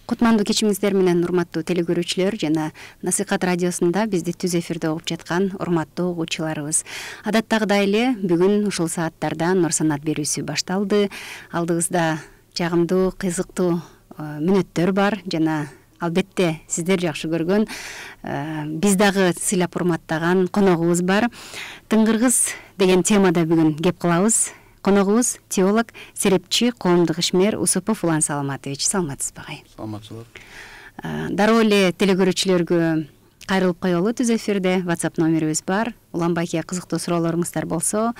Кутмандуу кечиңиздер менен урматтуу телекөрүүчүлөр жана Насыйкат радиосунда бизди түз эфирде угуп жаткан урматтуу угуучуларыбыз. Адаттагыдай эле бүгүн ушул сааттарда Нур Санат берүүсү башталды. Алдыбызда жагымдуу, кызыктуу мүнөттөр бар жана албетте сиздер жакшы көргөн, биз дагы сыйлап урматтаган коногубуз бар. Тыңгыргыз деген темада бүгүн кеп кылабыз. Коногубуз теолог, серепчи, коомдук ишмер Усупов Улан Саламатович. Саламатсызбы агай? Саламатчылык. Дароо эле телекөрүүчүлөргө кайрылып коелу. Түз эфирде WhatsApp номерибиз бар. Улан байке кызыктуу суроолоруңуздар болсо,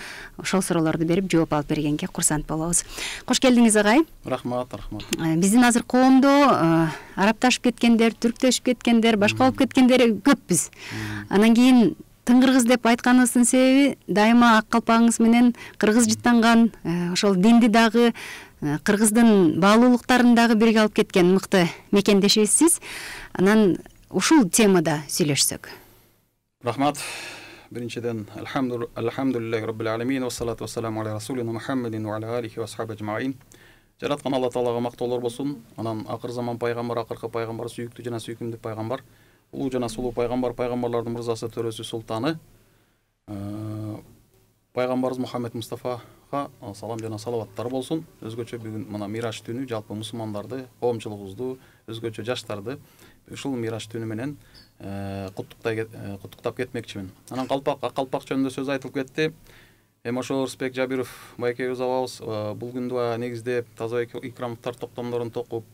ошол суроолорду берип жооп алып бергенге курсант болобуз. Кош келдиңиз агай. Рахмат. Биздин азыр коомдо арабташып кеткендер, түрктөшүп кеткендер, башка болуп кеткендер көппүз. Анан кийин тыңгыргыз деп айтканыбыздын себеби дайыма ак калпагыңыз менен кыргыз жыттанган, ошол динди дагы кыргыздын баалуулуктарын дагы бирге алып кеткен мыкты мекендешибизсиз. Анан ушул темада сүйлөшсөк. Рахмат. Биринчиден алхамдулиллахи раббил аламин ва салату ва саламу аля расулина Мухаммадин ва аля алихи ва асхаби ажмаин. Жараткан Алла Таалага мактоолор болсун. Анан акыр заман пайгамбар, акыркы пайгамбар, сүйүктүү жана сүйкүмдүү пайгамбар, улуу жана сулуу пайгамбар, пайгамбарлардын мырзасы, төрөсү, султаны пайгамбарыбыз Мухаммед Мустафага салам жана салаваттар болсун. Өзгөчө бүгүн мына Мираж түнү жалпы мусулмандарды, коомчулугубузду, өзгөчө жаштарды ушул Мираж түнү менен куттуктап кетмекчимин. Анан калпак жөнүндө сөз айтылып кетти. Ошо Рысбек Жабиров байкебиз абабыз бул күндө негизде таза икрамдыктар токтомдорун токуп,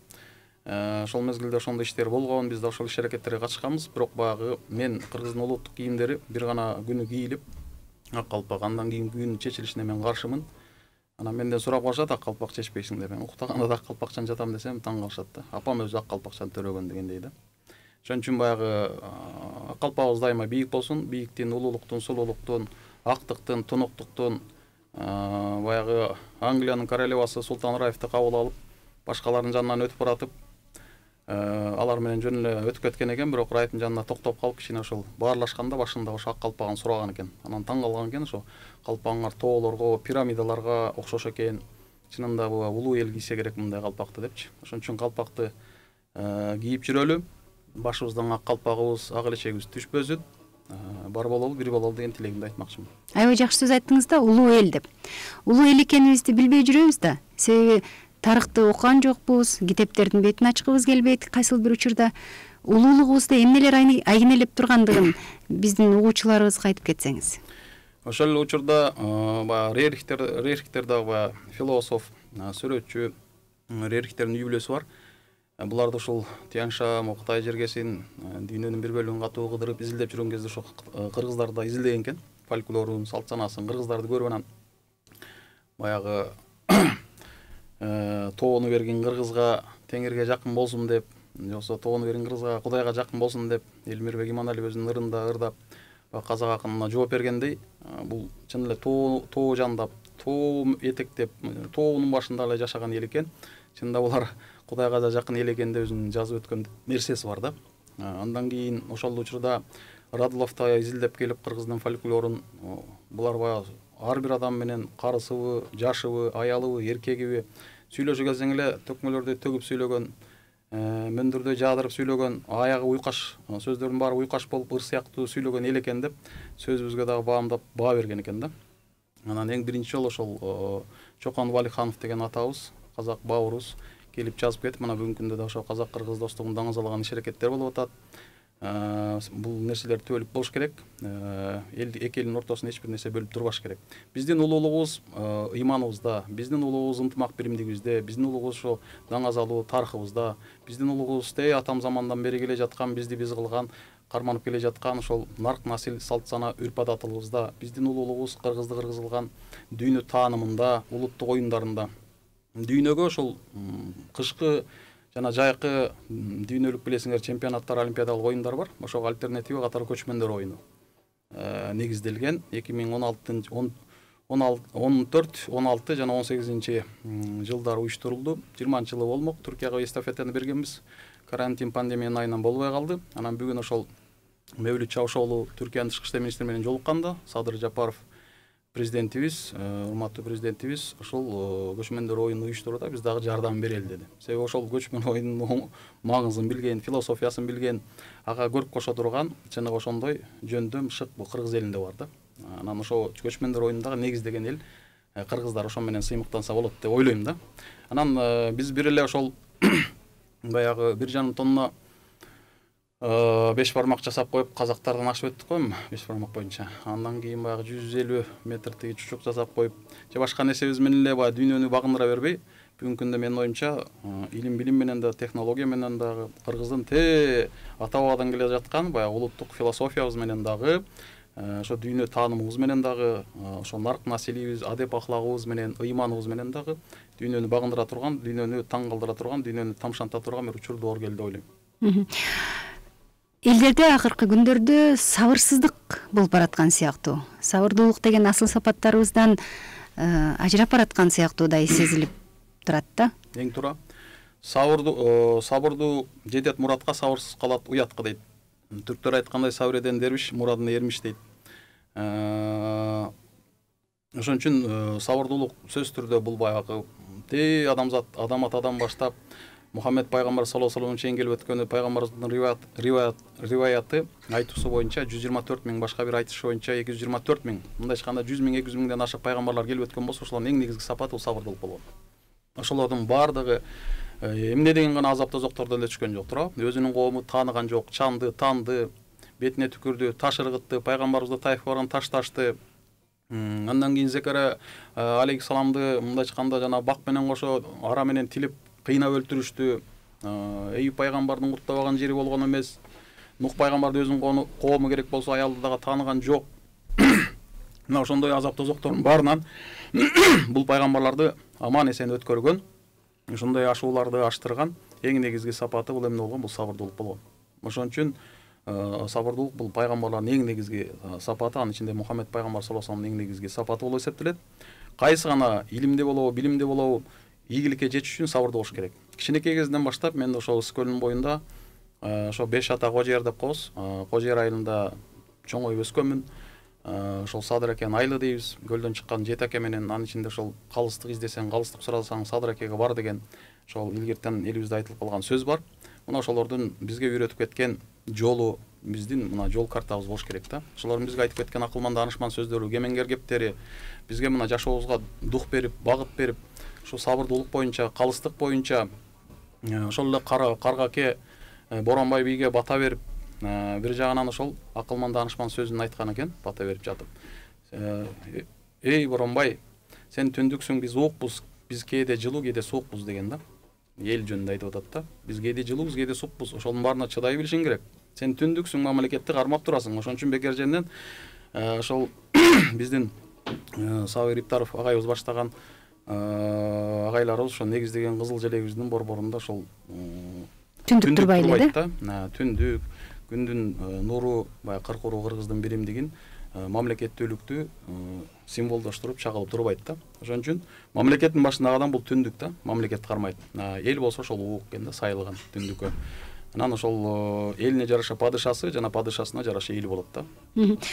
ошол мезгилде ошондой иштер болгон, биз да ошол иш-аракеттерге катышканбыз. Бирок баягы мен кыргыздын улуттук кийимдери бир гана күнү кийилип, ак калпак, андан кийин күн чечилишине мен каршымын. Анан менден сурап калышат, ак калпак чечпейсиң деп. Мен уктаганда да ак калпакчан жатам десем таң калышат да. Апам өзү ак калпакчан төрөгөн дегендей да. Ошон үчүн баягы ак калпагыбыз дайыма бийик болсун. Бийиктин, улуулуктун, сулуулуктун, актыктын, тунуктуктун, баягы Англиянын королевасы Султан Раифти кабыл алып, башкалардын жанынан өтүп баратып, алар менен жөн эле өтүп кеткен экен, бирок Раифтин жанына токтоп калып, кичине ошол баарлашканда башында ошо ак калпагын сураган экен. Анан таң калган экен, ошо калпагыңар тоолорго, пирамидаларга окшош экен. Чынында бул улуу эл кийсе керек мындай калпакты депчи. Ошон үчүн калпакты кийип жүрөлү. Башыбыздан ак калпагыбыз, ак элечегибиз түшпөсүн. Бар бололу, бир бололу деген тилегимди айтмакчымын. Аябай жакшы сөз айттыңыз да, улуу эл деп. Улуу эл экенибизди билбей жүрөбүз да. Себеби тарыхты окуган жокпуз, китептердин бетин ачкыбыз келбейт. Кайсыл бир учурда улуулугубузду эмнелер айгинелеп тургандыгын биздин угуучуларыбызга айтып кетсеңиз. Ошол эле учурда баягы Рерихтер дагы философ, сүрөтчү Рерихтердин үй бүлөсү бар. Буларды ушул Тянь-Шань, Кытай жергесин, дүйнөнүн бир бөлүгүн катуу кыдырып изилдеп жүргөн кезде ошо кыргыздарды да изилдеген экен. Фольклорун, салт санасын, кыргыздарды көрүп анан баягы тоону берген кыргызга теңирге жакын болсун деп, жоксо тоону берген кыргызга Кудайга жакын болсун деп Элмирбек Иманалиев өзүнүн ырында ырдап казак акынына жооп бергендей, бул чын эле тоо жандап, тоо этектеп, тоонун башында эле жашаган эл экен. Чында булар Кудайга да жакын эл экен деп өзүнүн жазып өткөн нерсеси бар да. Андан кийин ошол учурда Радуловду изилдеп келип кыргыздын фольклорун, булар баягы ар бир адам менен карысыбы, жашыбы, аялыбы, эркегиби сүйлөшө келсең эле төкмөлөрдү төгүп сүйлөгөн, мөндүрдө жаадырып сүйлөгөн, аягы уйкаш, сөздөрдүн баары уйкаш болуп ыр сыяктуу сүйлөгөн эл экен деп сөзүбүзгө дагы баамдап баа берген экен да. Анан эң биринчи жолу ошол Чокон Валиханов деген атабыз, казак бауырубыз келип жазып кетип, мына бүгүнкү күндө да ошо казак-кыргыз достугун даңазалаган иш-аракеттер болуп атат. Бул нерселер түбөлүк болуш керек. Эки элдин ортосунда эч бир нерсе бөлүп турбаш керек. Биздин улуулугубуз иманыбызда, биздин улуулугубуз ынтымак биримдигибизде, биздин улуулугубуз ошо даңазалуу тарыхыбызда, биздин улуулугубуз атам замандан бери келе жаткан, бизди биз кылган, карманып келе жаткан ошол нарк насил, салт сана, үрп адатыбызда, биздин улуулугубуз кыргызды кыргыз кылган дүйнө таанымында, улуттук оюндарында. Дүйнөгө ошол кышкы жана жайкы дүйнөлүк билесиңер чемпионаттар, олимпиадалык оюндар бар. Ошого альтернатива катары көчмөндөр оюну негизделген. 2014, 16 жана 18 жылдары уюштурулду. 20-жылы болмок. Түркияга эстафетаны бергенбиз. Карантин пандемиянын айынан болбой калды. Анан бүгүн ошол Мевлют Чавушоğlu Түркиянын тышкы иштер министри менен жолукканда, Садыр Жапаров президентибиз, урматтуу президентибиз ошол көчмөндөр оюнун уюштурууда биз дагы жардам берели деди. Себеби ошол көчмөн оюнунун маңызын билген, философиясын билген, ага көрүп кошо турган чыныгы ошондой жөндөм шык бул кыргыз элинде бар да. Анан ошо көчмөндөр оюнундагы негиздеген эл кыргыздар ошо менен сыймыктанса болот деп ойлойм да. Анан биз бир эле ошол баягы 1,5 тонна 5 бармак жасап коюп казактардан ашып өттүк го 5 бармак боюнча. Андан кийин баягы 150 метр тиги чучук жасап коюп же башка нерсебиз менен эле баягы дүйнөнү багындыра бербей, бүгүнкү күндө менин оюмча илим билим менен да, технология менен дагы кыргыздын ата бабадан келе жаткан баягы улуттук философиябыз менен дагы ошо дүйнө таанымыбыз менен дагы ошо нарк населибиз, адеп ахлагыбыз менен, ыйманыбыз менен дагы дүйнөнү багындыра турган, дүйнөнү таң калтыра турган, дүйнөнү тамшанта турган бир учур доор келди деп ойлойм. Элдерде акыркы күндөрдө сабырсыздык болуп бараткан сыяктуу. Сабырдуулук деген асыл сапаттарыбыздан ажырап бараткан сыяктуудай сезилип турат да. Эң туура. Сабырдуу жетет муратка, сабырсыз калат уятка дейт. Түрктөр айткандай сабыр эден дервиш, мурадына эрмиш дейт. Ошон үчүн сабырдуулук сөзсүз түрдө бул баягы адамзат, адам атадан баштап Мухаммед пайгамбар саллаллаху алейхи чейин келип өткөнү, пайгамбарыбыздын риваяты айтуусу боюнча 124 миң, башка бир айтышы боюнча 224 миң, мындай айтканда 100 миң, 200 миңден ашык пайгамбарлар келип өткөн болсо, ошолордун эң негизги сапаты бул сабырдуулук болгон. Ошолордун баардыгы эмне деген гана азап тозоктордон эле түшкөн жок, туурабы? Өзүнүн коомун тааныган жок, чанды, танды, бетине түкүрдү, таш ыргытты, пайгамбарыбызды Тайфка барган ташташты. Андан кийин Зекария алейхиссаламды мындай айтканда жана бак менен кошо ара менен тилип кыйнап өлтүрүштү. Эйюп пайгамбардын курттабаган жери болгон эмес. Нух пайгамбарды өзүнүн коому керек болсо аялды дагы тааныган жок. Мына ошондой азап тозоктордун баарынан бул пайгамбарларды аман эсен өткөргөн, ошондой ашууларды аштырган эң негизги сапаты бул эмне болгон? Бул сабырдуулук болгон. Ошон үчүн сабырдуулук бул пайгамбарлардын эң негизги сапаты, анын ичинде Мухаммед пайгамбар саллаллаху алейхи вассаламдын эң негизги сапаты болуп эсептелет. Кайсы гана илимде болобу, билимде болобу, ийгиликке жетиш үчүн сабырдуу болуш керек. Кичинекей кезинен баштап мен ошол Ысык көлүнүн боюнда ошо 5 ата Кожер деп коебуз. Кожер айылында чоңоюп өскөнмүн. Ошол Садыр акен айылы дейбиз. Көлдөн чыккан 7 аке менен, анын ичинде ошол калыстык издесең, калыстык сурасаң Садыр акеге бар деген ошол илгертен элибизде айтылып калган сөз бар. Мына ошолордун бизге үйрөтүп кеткен жолу, биздин мына жол картабыз болуш керек да. Ошолордун бизге айтып кеткен акылман данышман сөздөрү, кемеңгер кептери бизге мына жашообузга дух берип, багыт берип, ошо сабырдуулук боюнча, калыстык боюнча ошол эле Каргаке Боронбай бийге бата берип, бир жагынан ошол акылман данышман сөзүн айткан экен, бата берип жатып. Эй Боронбай, сен түндүксүң, биз уукпуз, биз кээде жылуу, кээде суукпуз деген да. Эл жөнүндө айтып атат да. Биз кээде жылуубуз, кээде суукпуз. Ошонун баарына чыдай билишиң керек. Сен түндүксүң, мамлекетти кармап турасың. Ошон үчүн бекер жеринен ошол биздин Сабыр Иптаров агайыбыз баштаган агайларыбыз ошо негиздеген кызыл желегибиздин борборунда ошол түндүк турбай эле да. Түндүк, күндүн нуру, баягы 40 уруу кыргыздын биримдигин мамлекеттүүлүктү символдоштуруп чагылып турбайт да. Ошон үчүн мамлекеттин башындагы адам бул түндүк да, мамлекет кармайт. Эл болсо ошол уук экен да, сайылган түндүккө. Анан ошол элине жараша падышасы жана падышасына жараша эли болот да.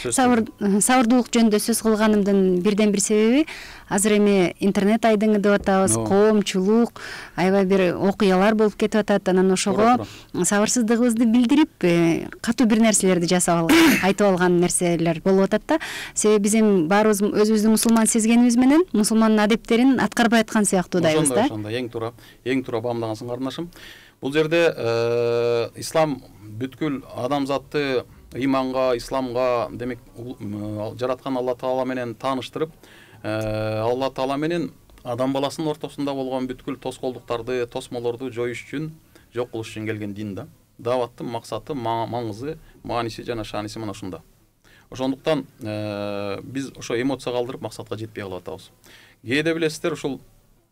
Сабырдуулук жөнүндө сөз кылганымдын бирден бир себеби азыр эми интернет айдыңы деп атабыз, коомчулук, аябай бир окуялар болуп кетип атат. Анан ошого сабырсыздыгыбызды билдирип, катуу бир нерселерди жасап айтып алган нерселер болуп атат да. Себеби биз эми баарыбыз өзүбүздү мусулман сезгенибиз менен мусулмандын адептерин аткарбай аткан сыяктуудайбыз да. Ошондой, эң туура баамдагансың кардынашым. Бул жерде ислам бүткүл адамзатты ыйманга, исламга, демек жараткан Алла Таала менен тааныштырып, Алла Таала менен адам баласынын ортосунда болгон бүткүл тоскоолдуктарды, тосмолорду жоюш үчүн, жок кылыш үчүн келген дин да. Дааваттын максаты, маңызы, мааниси жана шааниси мына ушунда. Ошондуктан биз ошо эмоция калтырып максатка жетпей калып атабыз. Кээде билесиздер, ушул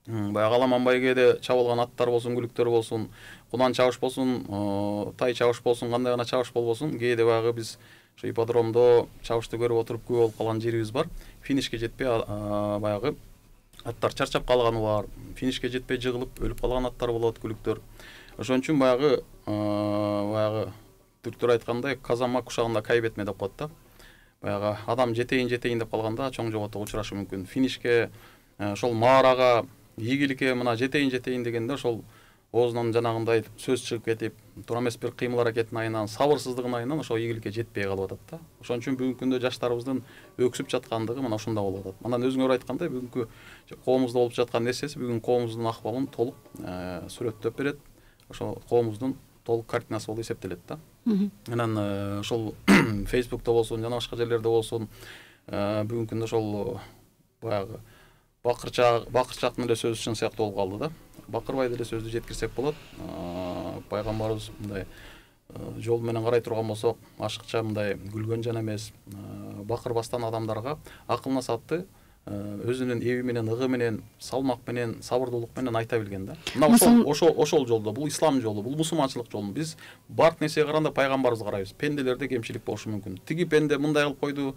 баягы Аламанбай кээде чабылган аттар болсун, күлүктөр болсун, кунан чабыш болсун, тай чабыш болсун, кандай гана чабыш болбосун, кээде баягы биз ошо ипподромдо чабышты көрүп отуруп күбө болуп калган жерибиз бар. Финишке жетпей баягы аттар чарчап калганы бар, финишке жетпей жыгылып өлүп калган аттар болот, күлүктөр. Ошон үчүн баягы түрктөр айткандай казама кушагында кайбетме деп коет да. баягы адам жетейин деп калганда чоң жоготого учурашы мүмкүн. Финишке ошол маарага ийгиликке мына жетейин дегенде ошол оозунан жанагындай сөз чыгып кетип, туура эмес бир кыймыл аракетин айынан, сабырсыздыгын айынан ошол ийгиликке жетпей калып атат да. Ошон үчүн бүгүнкү күндө жаштарыбыздын өксүп жаткандыгы мына ушунда болуп атат. Анан өзүңөр айткандай бүгүнкү коомубузда болуп жаткан нерсеси бүгүн коомубуздун акыбалын толук сүрөттөп берет. Ошол коомубуздун толук картинасы болуп эсептелет да. Анан ошол Facebook'та болсун, жана башка жерлерде болсун, бүгүнкү күндө ошол баягы бакырчактын эле сөзү чын сыяктуу болуп калды да. Бакырбай деле сөздү жеткирсек болот. Пайгамбарыбыз мындай жол менен карай турган болсок, ашыкча мындай күлгөн жана эмес, бакырбастан адамдарга акыл насаатты өзүнүн эби менен, ыгы менен, салмак менен, сабырдуулук менен айта билген да. Мына ошол жолдо, бул ислам жолу, бул мусулманчылык жолу. Биз бардык нерсеге караганда пайгамбарыбызды карайбыз. Пенделерде кемчилик болушу мүмкүн. Тиги пенде мындай кылып койду,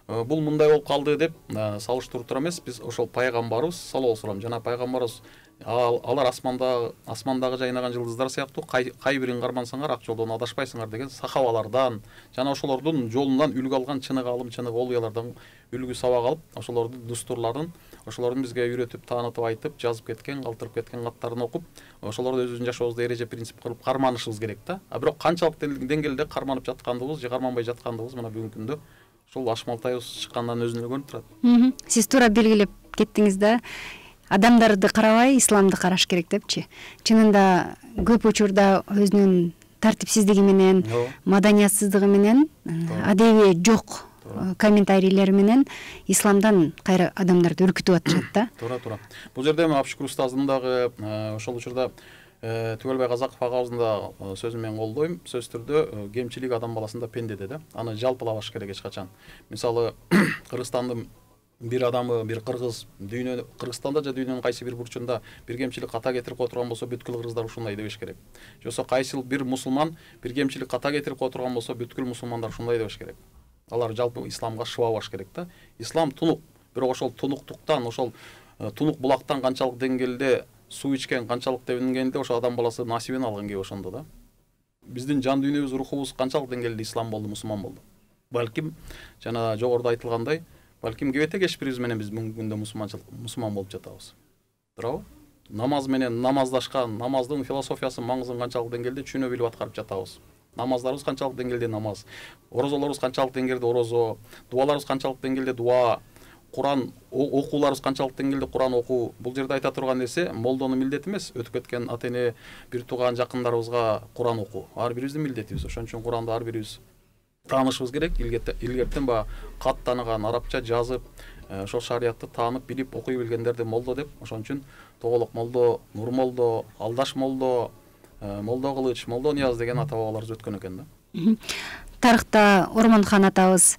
бул мындай болуп калды деп салыштырып тура эмес, биз ошол пайгамбарыбыз саллаллаху алейхи вассалам жана пайгамбарыбыз алар асмандагы жайнаган жылдыздар сыяктуу кай бирин кармансаңар ак жолдон адашпайсыңар деген сахабалардан жана ошолордун жолунан үлгү алган чыныгы алым, чыныгы олуялардан үлгү сабак алып, ошолордун дустурларын, ошолордун бизге үйрөтүп, таанытып, айтып, жазып кеткен, калтырып кеткен каттарын окуп, ошолорду өзүбүздүн жашообузда эреже принцип кылып карманышыбыз керек да. Бирок канчалык деңгээлде карманып жаткандыгыбыз же карманбай жаткандыгыбыз мына бүгүнкү күндө ушул ашмалтайыбыз чыккандан өзүнө эле көрүнүп турат. Сиз туура белгилеп кеттиңиз да. Адамдарды карабай исламды караш керек депчи. Чынында көп учурда өзүнүн тартипсиздиги менен, маданиятсыздыгы менен, адеби жок комментарийлери менен исламдан кайра адамдарды үркүтүп атышат да. Туура. Бул жерде Абшыкүр устаздын дагы ошол учурда Түгөлбай Казаков агабыздын да сөзүн мен колдойм. Сөзсүз түрдө кемчилик адам баласында пендеде да. Аны жалпылабаш керек эч качан. Мисалы, Кыргызстандын бир адамы, бир кыргыз Кыргызстанда же дүйнөнүн кайсы бир бурчунда бир кемчилик ката кетирип кое турган болсо, бүткүл кыргыздар ушундай дебеш керек. Же болбосо кайсы бир мусулман бир кемчилик ката кетирип кое турган болсо, бүткүл мусулмандар ушундай дебеш керек. Алар жалпы исламга шыбабаш керек да. Ислам тунук, бирок ошол тунуктуктан, ошол тунук булактан канчалык деңгээлде суу ичкен, канчалык деңгээлде ошол адам баласы насибин алган кеп ошондо да. Биздин жан дүйнөбүз, рухубуз канчалык деңгээлде ислам болду, мусулман болду. Балким жана жогоруда айтылгандай, балким кебете кеч бирибиз менен биз бүгүнкү күндө мусулман болуп жатабыз. Туурабы? Намаз менен намаздашкан, намаздын философиясын, маңызын канчалык деңгээлде түшүнө билип аткарып жатабыз. Намаздарыбыз канчалык деңгээлде намаз, орозолорубуз канчалык деңгээлде орозо, дуаларыбыз канчалык деңгээлде дуа, Куран окууларыбыз канчалык деңгээлде Куран окуу. Бул жерде айта турган нерсе молдонун милдети эмес, өтүп кеткен ата эне, бир тууган жакындарыбызга Куран окуу. Ар бирибиздин милдетибиз. Ошон үчүн Куранды ар бирибиз таанышыбыз керек. Илгертен баягы кат тааныган, арабча жазып, ошол шариятты таанып, билип, окуй билгендерди молдо деп. Ошон үчүн Тоголок молдо, Нур молдо, Алдаш молдо, Молдо Кылыч, Молдо Нияз деген ата бабаларыбыз өткөн экен да. Тарыхта Ормонхон атабыз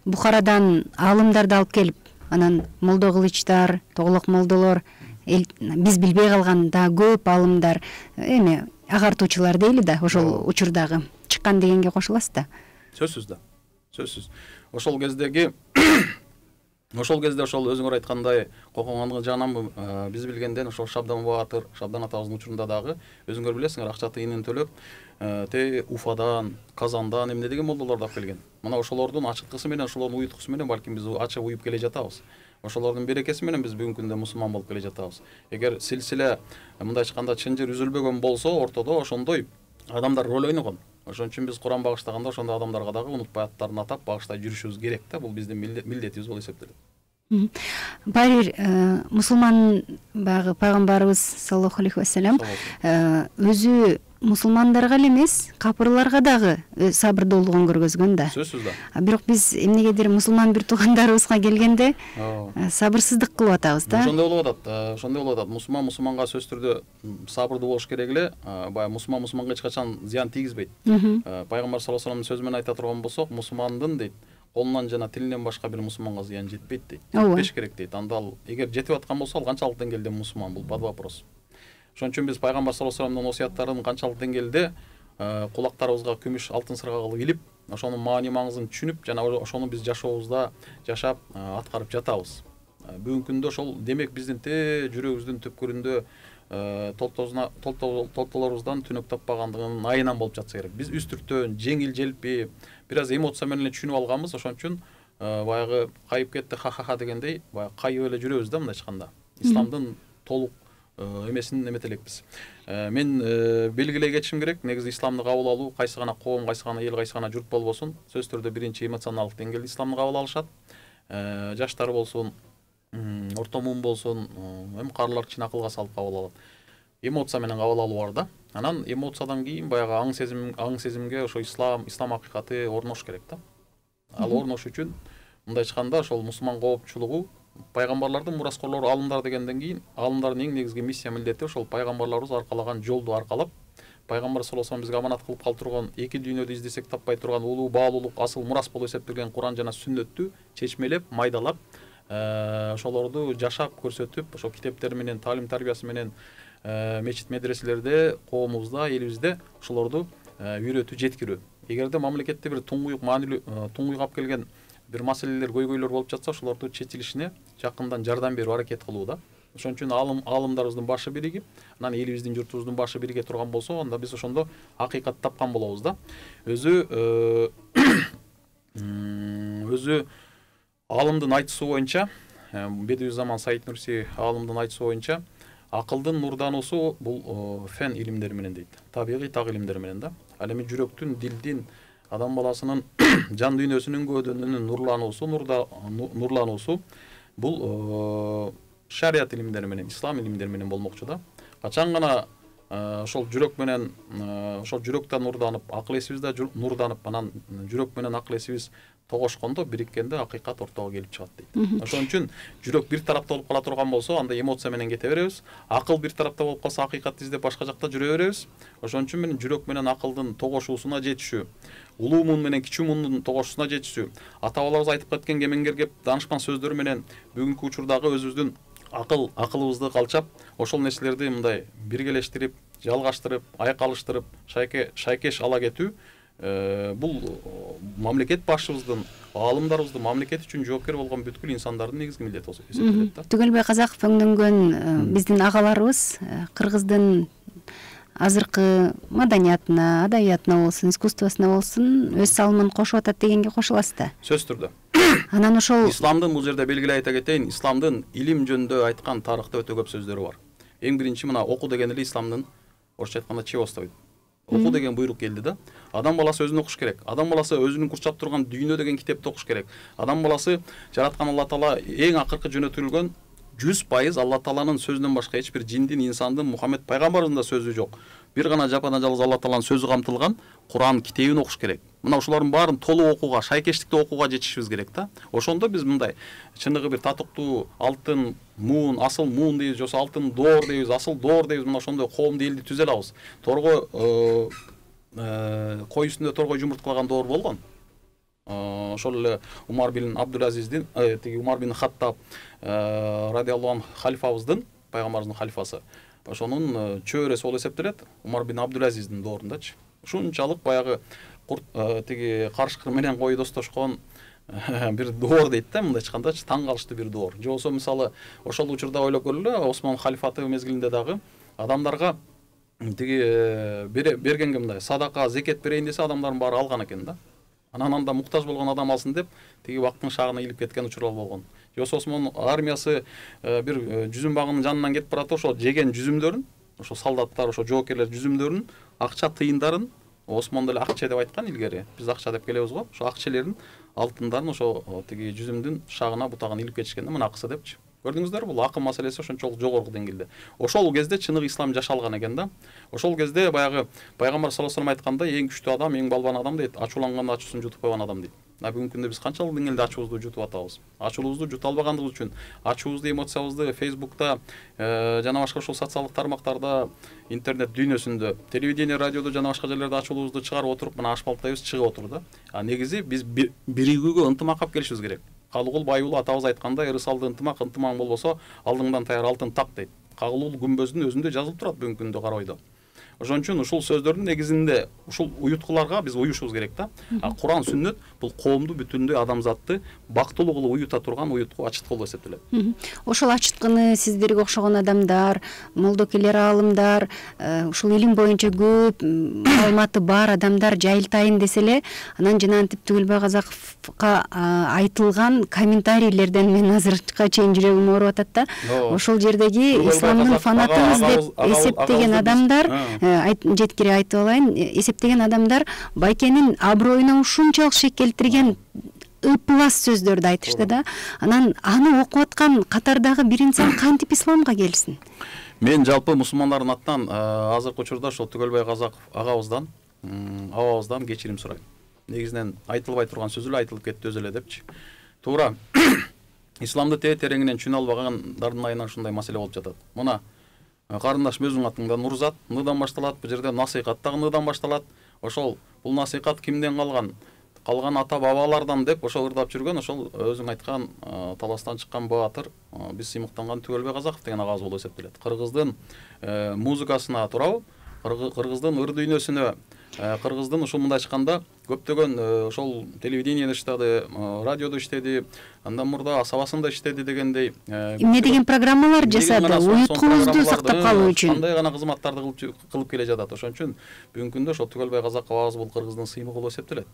Бухарадан аалымдарды алып келип, анан Молдо Кылычтар, Тоголок молдолор, биз билбей калган да көп аалымдар, эми агартуучулар дейли да, ошол учурдагы чыккан дегенге кошуласыз да. Сөзсүз да. Сөзсүз. Ошол кездеги ошол өзүңөр айткандай кокоңондун жагынан биз билгенден ошол Шабдан Баатыр, Шабдан атабыздын учурунда дагы өзүңөр билесиңер, акча тыйынын төлөп, Уфадан, Казандан эмне деген молдолорду алып келген. Мына ошолордун ачыткысы менен, ошолордун уюткусу менен балким биз ачып уюп келе жатабыз. Ошолордун берекеси менен биз бүгүнкү күндө мусулман болуп келе жатабыз. Эгер силсиле мындайча айтканда чынжыр үзүлбөгөн болсо, ортодо ошондой адамдар роль ойногон. Ошон үчүн биз Куран багыштаганда ошондой адамдарга дагы унутпай аттарын атап багыштай жүрүшүбүз керек да. Бул биздин милдетибиз болуп эсептелет. Баары бир мусулман баягы пайгамбарыбыз саллаллаху алейхи вассалам өзү мусулмандарга эле эмес, капырларга дагы сабырдуулугун көргөзгөн да. Сөзсүз да. Бирок биз эмнегедир мусулман бир туугандарыбызга келгенде сабырсыздык кылып атабыз да. Ошондой болуп атат. Мусулманга сөзсүз түрдө сабырдуу болуш керек эле. Баягы мусулманга эч качан зыян тийгизбейт. Пайгамбар саллаллаху алейхи вассаламдын сөзү менен айта турган болсок, мусулмандын дейт, колунан жана тилинен башка бир мусулманга зыян жетпейт дейт. Жетпеш керек дейт. Анда ал эгер жетип аткан болсо, ал канчалык деңгээлде мусулман, бул под вопрос. Ошон үчүн биз пайгамбар саллаллаху алейхи вассаламдын осуяттарын канчалык деңгээлде кулактарыбызга күмүш, алтын сырга кылып илип, ошонун маани маңызын түшүнүп, жана ошону биз жашообузда жашап аткарып жатабыз. Бүгүнкү күндө ошол демек биздин жүрөгүбүздүн түпкүрүндө толтолорубуздан түнөк таппагандыгынын айынан болуп жатса керек. Биз үстүртөн, жеңил желпи, бир аз эмоция менен түшүнүп алганбыз. Ошон үчүн баягы кайып кетти ха дегендей баягы кайып эле жүрөбүз да мындайча айтканда. Исламдын толук эмесин эмете элекпиз. Мен белгилей кетишим керек, негизи исламды кабыл алуу кайсы гана коом, кайсы гана эл, кайсы гана журт болбосун, сөзсүз түрдө биринчи эмоционалдык деңгээлде исламды кабыл алышат. Жаштар болсун, орто муун болсун, эми карылар кичине акылга салып кабыл алат. Эмоция менен кабыл алуу бар да. Анан эмоциядан кийин баягы аң сезимге ошо ислам акыйкаты орнош керек да. Ал орнош үчүн мындайча айтканда ошол мусулман коопчулугу пайгамбарлардын мураскорлору аалымдар дегенден кийин аалымдардын эң негизги миссия милдети ошол пайгамбарларыбыз аркалаган жолду аркалап, пайгамбар саллаллаху алейхи вассалам бизге аманат кылып калтырган эки дүйнөдө издесек таппай турган улуу баалуулук, асыл мурас болуп эсептелген Куран жана сүннөттү чечмелеп, майдалап, ошолорду жашап көрсөтүп, ошол китептер менен, таалим тарбиясы менен мечит медреселерде, коомубузда, элибизде ошолорду үйрөтүү, жеткирүү. Эгерде мамлекетте бир туңгуюк алып келген бир маселелер, көйгөйлөр болуп жатса, ошолорду чечилишине жакындан жардам берүү, аракет кылуу да. Ошон үчүн аалымдарыбыздын башы биригип, анан элибиздин, журтубуздун башы бирге турган болсо, анда биз ошондо акыйкат тапкан болобуз да. Өзү аалымдын айтуусу боюнча, Бедиузаман Саид Нурси аалымдын айтуусу боюнча, акылдын нурдануусу бул фен илимдери менен дейт. Табигый так илимдер менен да. Ал эми жүрөктүн, дилдин, адам баласынын жан дүйнөсүнүн көөдөнүнүн нурлануусу бул шарият илимдери менен, ислам илимдери менен болмокчу да. Качан гана ошол жүрөк менен, ошол жүрөктө нурданып, акыл эсибиз да нурданып, анан жүрөк менен акыл эсибиз тогошкондо, бириккенде акыйкат ортого келип чыгат дейт. Ошон үчүн жүрөк бир тарапта болуп кала турган болсо, анда эмоция менен кете беребиз. Акыл бир тарапта болуп калса, акыйкатты издеп башка жакта жүрө беребиз. Ошон үчүн мен жүрөк менен акылдын тогошуусуна жетишүү, улуу муун менен кичүү муундун тогошуусуна жетишүү, ата бабаларыбыз айтып кеткен кемеңгер кеп даанышман сөздөрү менен бүгүнкү учурдагы өзүбүздүн акылыбызды калчап, ошол нерселерди мындай биргелештирип, жалгаштырып, айкалыштырып, шайкеш ала кетүү бул мамлекет башчыбыздын, аалымдарыбыздын, мамлекет үчүн жоопкер болгон бүткүл инсандардын негизги милдети болуп эсептелет да. Түгөлбөй казак өңдөнгөн биздин агаларыбыз кыргыздын азыркы маданиятына, адабиятына болсун, искусствосуна болсун өз салымын кошуп атат дегенге кошуласыз да. Сөзсүз түрдө. Анан ошол исламдын бул жерде белгилей айта кетейин, исламдын илим жөнүндө айткан тарыхта өтө көп сөздөрү бар. Эң биринчи мына оку деген эле исламдын, орусча айтканда, чевосто дейт. Оку деген буйрук келди да. Адам баласы өзүн окуш керек. Адам баласы өзүнүн курчап турган дүйнө деген китепти окуш керек. Адам баласы жараткан Алла Таала эң акыркы жөнөтүлгөн 100% Алла Тааланын сөзүнөн башка эч бир жиндин, инсандын, Мухаммед пайгамбарыбыздын да сөзү жок. Бир гана жапана жалгыз Алла Тааланын сөзү камтылган Куран китебин окуш керек. Мына ушулардын баарын толук окууга, шайкештикте окууга жетишибиз керек да. Ошондо биз мындай чыныгы бир татыктуу алтын муун, асыл муун дейбиз, жосо алтын доор дейбиз, асыл доор дейбиз. Мына ошондой коомду, элди түзө алабыз. Торго кой үстүндө торгой жумурткалаган доор болгон. Ошол эле Умар бин Абдулазиздин, Умар бин Хаттаб радиаллаху анху халифабыздын, пайгамбарыбыздын халифасы. Ошонун чөбөрөсү болуп эсептелет, Умар бин Абдулазиздин доорундачы. Ушунчалык баягы карышкыр менен кой достошкон бир доор дейт да, мындай айткандачы, таң калыштуу бир доор. Же болсо мисалы ошол учурда ойлоп көрөлү, Осман халифаты мезгилинде дагы адамдарга бергенге мындай садака, зекет берейин десе, адамдардын баары алган экен да. Анан анда муктаж болгон адам алсын деп, убакыттын шагына илип кеткен учурлар болгон. Жосо Осман армиясы бир жүзүм багынын жанынан кетип барат, ошо жеген жүзүмдөрүн, ошо солдаттар, ошо жоокерлер жүзүмдөрүн, акча тыйындарын, Осман деле акча деп айткан илгери. Биз акча деп келебиз го. Ошо акчалерин, алтындарын ошо жүзүмдүн шагына, бутагына илип кетишкенде, мына акысы депчи. Көрдүңүздөр, бул акыл маселеси ошончолук жогорку деңгээлде. Ошол кезде чыныгы ислам жашалган экен да. Ошол кезде баягы пайгамбар саллаллаху алейхи вассалам айткандай, эң күчтүү адам, эң балбан адам дейт, ачууланганда ачуусун жутуп койгон адам дейт. Бүгүнкү күндө биз канчалык деңгээлде ачуубузду жутуп атабыз? Ачуубузду жута албагандыгыбыз үчүн, ачуубузду, эмоциябызды Facebook'та жана башка ошол социалдык тармактарда, интернет дүйнөсүндө, телевидение, радиодо жана башка жерлерде ачуубузду чыгарып отуруп, мына ашпалттайбыз, чыгып отур да. Негизи биз биригүүгө, ынтымак кап келишибиз керек. Калыгул Байулу атабыз айткандай, ырысалды ынтымак, ынтымаң болбосо алдыңдан таяр алтын так дейт. Кагылуу күмбөздүн өзүндө жазылып турат бүгүнкү күндө Кара Ойдо. Ошон үчүн ушул сөздөрдүн негизинде ушул уюткуларга биз уюшубуз керек да. Куран, сүннөт бул коомду бүтүндөй адамзатты бактылуу кылып уюта турган уютку, ачыткы болуп эсептелет. Ошол ачыткыны сиздерге окшогон адамдар, молдокелер, аалымдар, ушул илим боюнча көп маалыматы бар адамдар жайылтайын десе эле, анан жанагынтип Түгөлбай Казаковго айтылган комментарийлерден мен азыркыга чейин жүрөгүм ооруп атат да. Ошол жердеги исламдын фанатыбыз деп эсептеген адамдар, жеткире айтып алайын, эсептеген адамдар байкенин аброюна ушунчалык шек келтирген ыплас сөздөрдү айтышты да. Анан аны окуп аткан катардагы бир инсан кантип исламга келсин? Мен жалпы мусулмандардын атынан азыркы учурда ошол Түгөлбай Казаков агабыздан, абабыздан кечирим сурайм. Негизинен айтылбай турган сөз эле айтылып кетти өзү эле депчи. Туура. Исламды тереңинен түшүнө албагандардын айынан ушундай маселе болуп жатат. Мына карындашым өзүңүн атыңдан Нурзат, ныдан башталат, бул жерде насыйкат дагы ныдан башталат. Ошол бул насыйкат кимден калган? Калган ата бабалардан деп ошол ырдап жүргөн, ошол өзүң айткан таластан чыккан баатыр, биз сыймыктанган Түгөлбай Казаков деген агабыз болуп эсептелет. Кыргыздын музыкасына туурабы, кыргыздын ыр дүйнөсүнө, кыргыздын ушул мындай айтканда көптөгөн ошол телевидениеде иштеди, радиодо иштеди, андан мурда асабасында иштеди дегендей. Эмне деген программалар жасады, уюткубузду сактап калуу үчүн. Кандай гана кызматтарды кылып келе жатат. Ошон үчүн бүгүнкү күндө ошол Түгөлбай Казаков агабыз бул кыргыздын сыймыгы болуп эсептелет.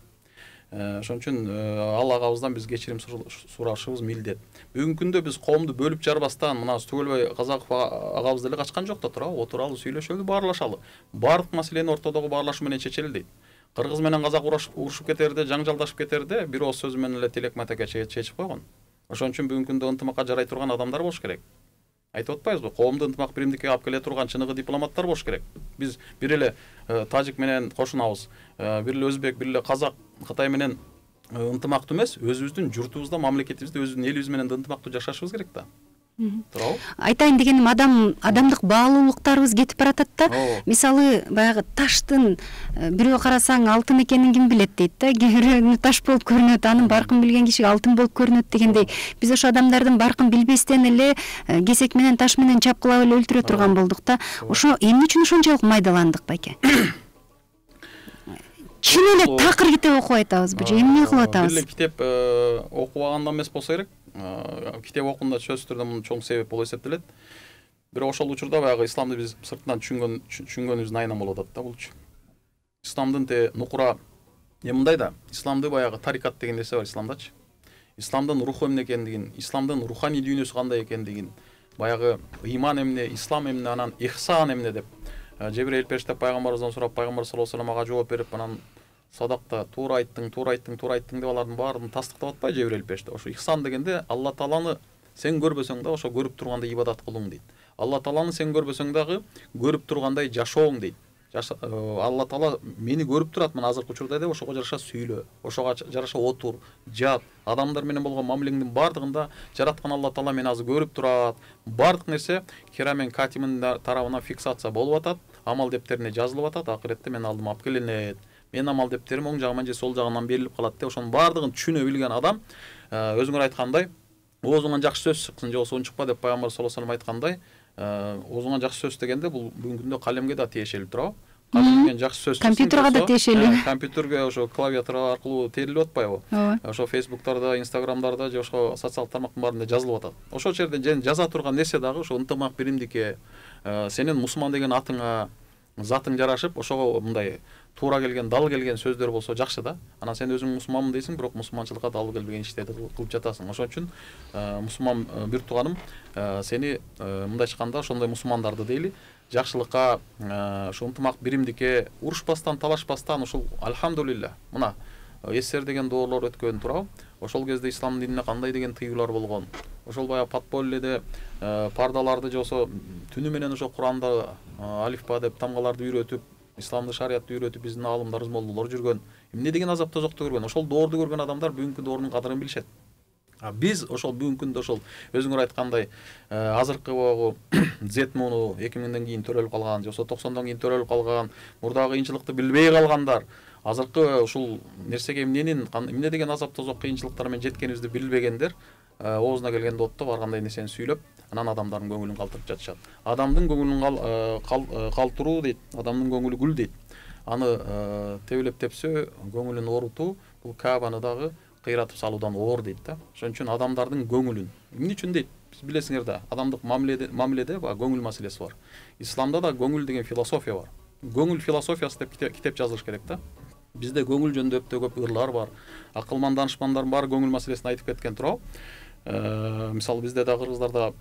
Ошон үчүн ал агабыздан биз кечирим сурашыбыз милдет. Бүгүнкү күндө биз коомду бөлүп жарбастан, мына Түгөлбай Казаков агабыз деле качкан жок да, туурабы, отуралы, сүйлөшөлү, баарлашалы. Бардык маселени ортодогу баарлашуу менен чечели дейт. Кыргыз менен казак урушуп кетерде, жаңжалдашып кетерде бир ооз сөзү менен эле тилек матекке чечип койгон. Ошон үчүн бүгүнкү күндө ынтымакка жарай турган адамдар болуш керек. Айтып атпайбызбы? Коомду ынтымак биримдикке алып келе турган чыныгы дипломаттар болуш керек. Биз бир эле тажик менен кошунабыз, бир эле өзбек, бир эле казак, Кытай менен ынтымактуу эмес, өзүбүздүн журтубузда, мамлекетибизде, өзүбүздүн элибиз менен ынтымактуу жашашыбыз керек да. Туурабы? Айтайын дегеним, адамдык баалуулуктарыбыз кетип баратат да. Мисалы, баягы таштын бирөө карасаң алтын экенин ким билет дейт да. Бирөөнү таш болуп көрүнөт, анын баркын билген кишиге алтын болуп көрүнөт дегендей. Биз ошо адамдардын баркын билбестен эле кесек менен, таш менен чапкылап эле өлтүрө турган болдук да. Ошо эмне үчүн ошончолук майдаландык байке? Чын эле такыр китеп окуп атабызбы же эмне кылып атабыз? Бир эле китеп окубагандан эмес болсо керек. Китеп окуганда сөзсүз түрдө мунун чоң себеп болуп эсептелет. Бирок ошол учурда баягы исламды биз сыртынан түшүнгөнүбүздүн айынан болуп атат да булчу. Исламдын нукура мындай да, исламды баягы тарикат деген нерсе бар исламдачы. Исламдын руху эмне экендигин, исламдын руханий дүйнөсү кандай экендигин, баягы ыйман эмне, ислам эмне, анан ихсан эмне деп Жебирейил периште пайгамбарыбыздан сурап, пайгамбар саллаллаху алейхи вассалам ага жооп берип, анан садакта туура айттың деп алардын баарын тастыктап атпайбы Жебирейил периште. Ошо ихсан дегенде Алла Тааланы сен көрбөсөң да ошо көрүп тургандай ибадат кылууң дейт. Алла Тааланы сен көрбөсөң дагы көрүп тургандай жашооң дейт. Алла Таала мени көрүп турат, мына азыркы учурда деп, ошого жараша сүйлө, ошого жараша отур, жат, адамдар менен болгон мамилеңдин бардыгында жараткан Алла Таала мени азыр көрүп турат. Бардык нерсе керамен катимин тарабынан фиксация болуп атат, амал дептерине жазылып атат, акыретте мен алдыма алып келинет. Менин амал дептерим оң жагынан же сол жагынан берилип калат деп, ошонун бардыгын түшүнө билген адам, өзүңөр айткандай, оозуңан жакшы сөз чыксын же чыкпа деп пайгамбар саллаллаху алейхи вассалам айткандай, оозуңан жакшы сөз дегенде бул бүгүнкү күндө калемге да тиешелүү, туурабы? Калемден жакшы сөз чыксын. Компьютерге да тиешелүү. Компьютерге ошо клавиатура аркылуу терилип атпайбы? Ошо Facebook'тарда, Instagram'дарда же ошо социалдык тармактын баарында жазылып атат. Ошол жерде жаза турган нерсе дагы ошо ынтымак биримдикке, сенин мусулман деген атыңа, затың жарашып, ошого мындай туура келген, дал келген сөздөр болсо жакшы да. Анан сен өзүң мусулманмын дейсиң, бирок мусулманчылыкка дал келбеген иштерди кылып жатасың. Ошон үчүн мусулман бир тууганым, сени мындай айтканда ошондой мусулмандарды дейли, жакшылыкка, ошо ынтымак биримдикке, урушпастан, талашпастан, ушул альхамдулилля. Мына эсер деген доорлор өткөн, туурабы? Ошол кезде ислам динине кандай деген тыюулар болгон. Ошол баягы подпольеде пардаларды же болсо түнү менен ошо Куранда алифба деп тамгаларды үйрөтүп, исламды, шариятты үйрөтүп биздин аалымдарыбыз, молдолор жүргөн. Эмне деген азап тозокту көргөн. Ошол доорду көргөн адамдар бүгүнкү доордун кадырын билишет. Биз ошол бүгүнкү күндө ошол өзүңөр айткандай азыркы Z муну 2000ден кийин төрөлүп калган, же болсо 90дон кийин төрөлүп калган, мурдагы кыйынчылыкты билбей калгандар, азыркы ушул нерсеге эмне деген азап тозок кыйынчылыктар менен жеткенибизди билбегендер оозуна келгенде оттоп ар кандай нерсени сүйлөп анан адамдардын көңүлүн калтырып жатышат. Адамдын көңүлүн калтыруу дейт, адамдын көңүлү гүл дейт. Аны тебелеп тепсө көңүлүн оорутуу бул Каабаны дагы кыйратып салуудан оор дейт да. Ошон үчүн адамдардын көңүлүн эмне үчүн дейт? Биз билесиңер да, адамдык мамиледе көңүл маселеси бар. Исламда да көңүл деген философия бар. Көңүл философиясы деп китеп жазылыш керек да. Бизде көңүл жөнүндө өтө көп ырлар бар. Акылман данышпандардын баары көңүл маселесин айтып кеткен туурабы. Мисалы бизде да кыргыздарда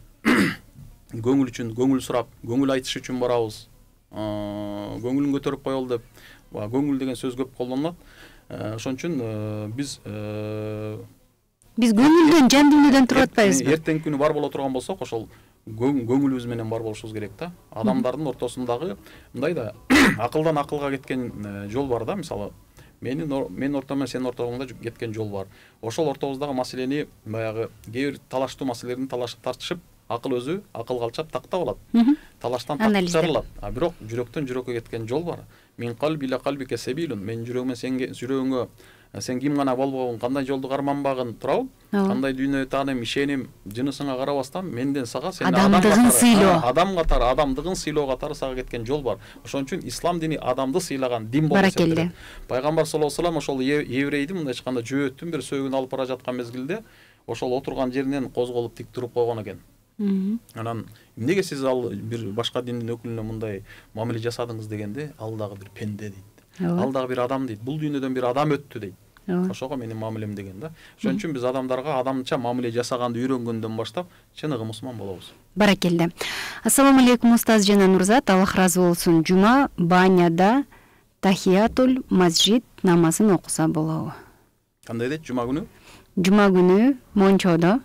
көңүл үчүн көңүл сурап, көңүл айтыш үчүн барабыз. Көңүлүн көтөрүп коелу деп көңүл деген сөз көп колдонулат. Ошон үчүн биз көңүлдөн, жан дүйнөдөн туруп атпайбызбы? Эртеңки күнү бар боло турган болсок, ошол көңүлүбүз менен бар болушубуз керек да. Адамдардын ортосундагы мындай да акылдан акылга кеткен жол бар да. Мисалы менин ортом менен сенин ортоңда кеткен жол бар. Ошол ортобуздагы маселени баягы кээ бир талаштуу маселелерин тартышып, акыл өзү акылга алчап тактап алат. Талаштан так чыгарылат. Бирок жүрөктөн жүрөккө кеткен жол бар. Мен калби ила калбике себилун. Менин жүрөгүмө жүрөгүңө сен ким гана болбогун, кандай жолду карманбагын турабы? Кандай дүйнө тааным, ишеним, жынысыңа карабастан менден сага сен адамдыгын сыйлоо. Адам катары, адамдыгын сыйлоо катары сага кеткен жол бар. Ошон үчүн ислам дини адамды сыйлаган дин болуп эсептелет. Пайгамбар саллаллаху алейхи ошол еврейди мындай айтканда жөөттүн бир сөөгүн алып бара жаткан мезгилде ошол отурган жеринен козголуп тик туруп койгон экен. Анан эмнеге сиз ал бир башка диндин өкүлүнө мындай мамиле жасадыңыз дегенде, ал дагы бир пенде дейт. Ал дагы бир адам дейт. Бул дүйнөдөн бир адам өттү дейт. Ошого менин мамилем деген да. Ошон үчүн биз адамдарга адамча мамиле жасаганды үйрөнгөндөн баштап чыныгы мусулман болобуз. Баракелде. Ассаламу алейкум устаз жана Нурзат, Аллах ыраазы болсун. Жума баняда тахиятул масжид намазын окуса болобу? Кандай дейт жума күнү? Жума күнү мончодо,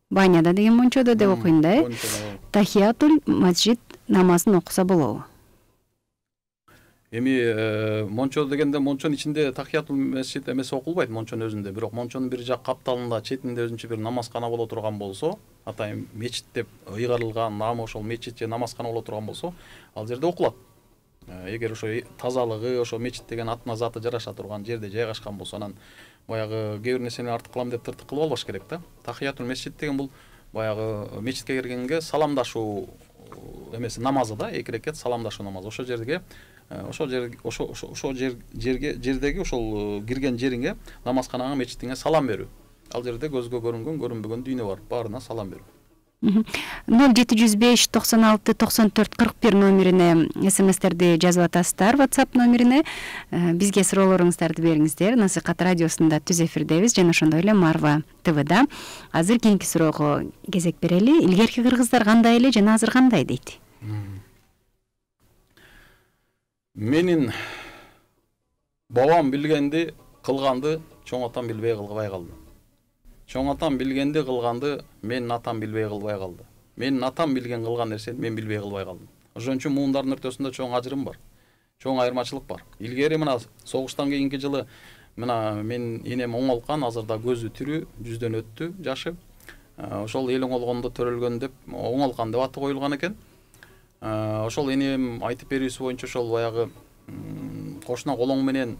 баняда деген мончодо деп окуйм да. Тахиятул масжид намазын окуса болобу? Эми мончо дегенде мончонун ичинде тахиятул масжид эмеси окулбайт мончонун өзүндө. Бирок мончонун бир жак капталында четинде өзүнчө бир намазкана боло турган болсо, атайын мечит деп ыйгарылган, намы ошол мечит же намазкана боло турган болсо, ал жерде окулат. Эгер ошо тазалыгы, ошо мечит деген атына заты жараша турган жерде жайгашкан болсо, анан баягы кээ бир нерсени артык кылам деп тыртык кылып албаш керек да. Тахиятул масжид деген бул баягы мечитке киргенге саламдашуу эмеси намазы да, 2 рекет саламдашуу намазы. Ошол жердеги ошол кирген жериңе, намазканаңа, мечитиңе салам берүү. Ал жерде көзгө көрүнгөн, көрүнбөгөн дүйнө бар, баарына салам берүү. 0705 96 94 41 номерине смстерди жазып атасыздар, WhatsApp номерине бизге суроолоруңуздарды бериңиздер. Насыйкат радиосунда түз эфирдебиз жана ошондой эле Марва ТВда. Азыр кийинки суроого кезек берели. Илгерки кыргыздар кандай эле жана азыр кандай дейт? Менин бабам билгенди кылганды чоң атам билбей кылбай калды. Чоң атам билгенди кылганды менин атам билбей кылбай калды. Менин атам билген кылган нерсени мен билбей кылбай калдым. Ошон үчүн муундардын ортосунда чоң ажырым бар. Чоң айырмачылык бар. Илгери мына согуштан кийинки жылы мына менин энем оңолгон, азырда көзү тирүү, жүздөн өттү жашы. Ошол эл оңолгондо төрөлгөн деп оңолгон деп аты коюлган экен. Ошол энем айтып берүүсү боюнча ошол баягы кошуна колоң менен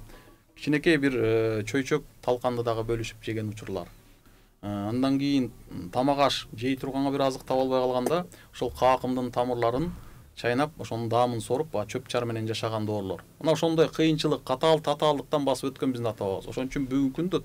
кичинекей бир чөйчөк талканды дагы бөлүшүп жеген учурлар. Андан кийин тамак аш жей турганга бир азык таба албай калганда ошол каакымдын тамырларын чайнап, ошонун даамын соруп, чөп чар менен жашаган доорлор. Мына ошондой кыйынчылык, татаалдыктан басып өткөн биздин ата бабабыз. Ошон үчүн бүгүнкү күндө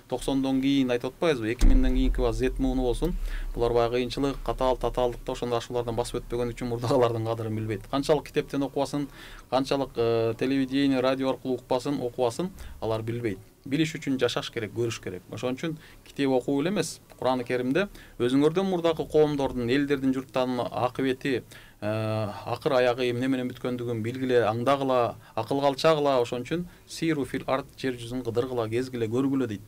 90дон кийин айтып атпайбызбы, 2000ден кийинки Z мууну болсун, булар баягы кыйынчылык, татаалдыкта ошондой ашуулардан басып өтпөгөн үчүн мурдагылардын кадырын билбейт. Канчалык китептен окубасын, канчалык телевидение, радио аркылуу окубасын, алар билбейт. Билиш үчүн жашаш керек, көрүш керек. Ошон үчүн китеп окуу эле эмес, Кур'ан-ы Керимде өзүңөрдөн мурдакы коомдордун, элдердин, журттардын акыбети, акыр аягы эмне менен бүткөндүгүн билгиле, аңдагыла, акылга алчагыла. Ошон үчүн сиру фил арт, жер жүзүн кыдыргыла, кезгиле, көргүлө дейт.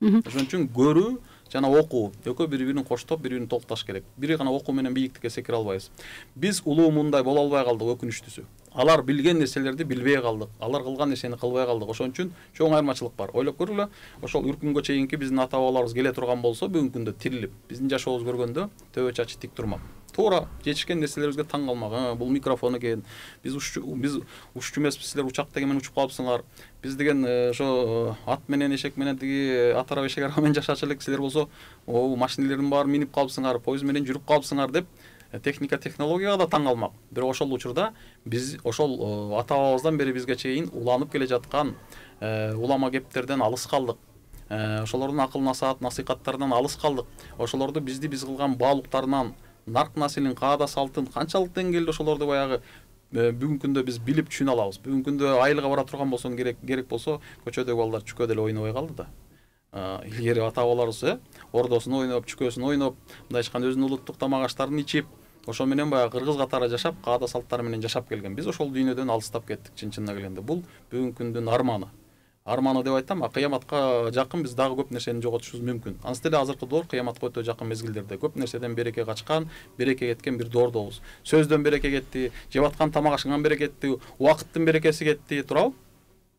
Ошон үчүн көрүү жана окуу экөө бири-бирин коштоп, бири-бирин толукташ керек. Бири гана окуу менен бийиктикке секире албайбыз. Биз улуу мындай боло албай калдык, өкүнүчтүүсү. Алар билген нерселерди билбей калдык. Алар кылган нерсени кылбай калдык. Ошон үчүн чоң айырмачылык бар. Ойлоп көргүлө, ошол үркүнгө чейинки биздин ата бабаларыбыз келе турган болсо, бүгүнкү күндө тирилип, биздин жашообуз көргөндө төбө чачы тик турмак. туура жетишкен нерселерибизге таң калмак. Бул микрофон экен, биз уччу эмеспиз, силер учак деген менен учуп калыпсыңар, биз деген ошо ат менен эшек менен тиги ат арба эшек арба менен жашачу элек, силер болсо машинелердин баарын минип калыпсыңар, поезд менен жүрүп калыпсыңар деп техника технологияга да таң калмак. Бирок ошол учурда биз ошол ата бабабыздан бери бизге чейин уланып келе жаткан улама кептерден алыс калдык. Ошолордун акыл насихаттарынан алыс калдык. Ошолорду биз кылган баалуктарынан, нарк населин, каада салтын канчалык деңгээлде ошолорду баягы бүгүнкү күндө биз билип түшүнө алабыз. Бүгүнкү күндө айылга бара турган болсоң керек болсо көчөдөгү балдар чүкө деле ойнобой калды да. Илгери ата бабаларыбыз ордосун ойноп, чүкөсүн ойноп, мындай айтканда өзүнүн улуттук тамак аштарын ичип, ошо менен баягы кыргыз катары жашап, каада салттары менен жашап келген. Биз ошол дүйнөдөн алыстап кеттик чын-чынына келгенде. Бул бүгүнкү күндүн арманы деп айтам. Кыяматка жакын биз дагы көп нерсени жоготушубуз мүмкүн. Анысы деле азыркы доор кыяматка өтө жакын мезгилдерде көп нерседен береке качкан, береке кеткен бир доордобуз. Сөздөн береке кетти, жеп аткан тамак ашыңан береке кетти, убакыттын берекеси кетти, туурабы?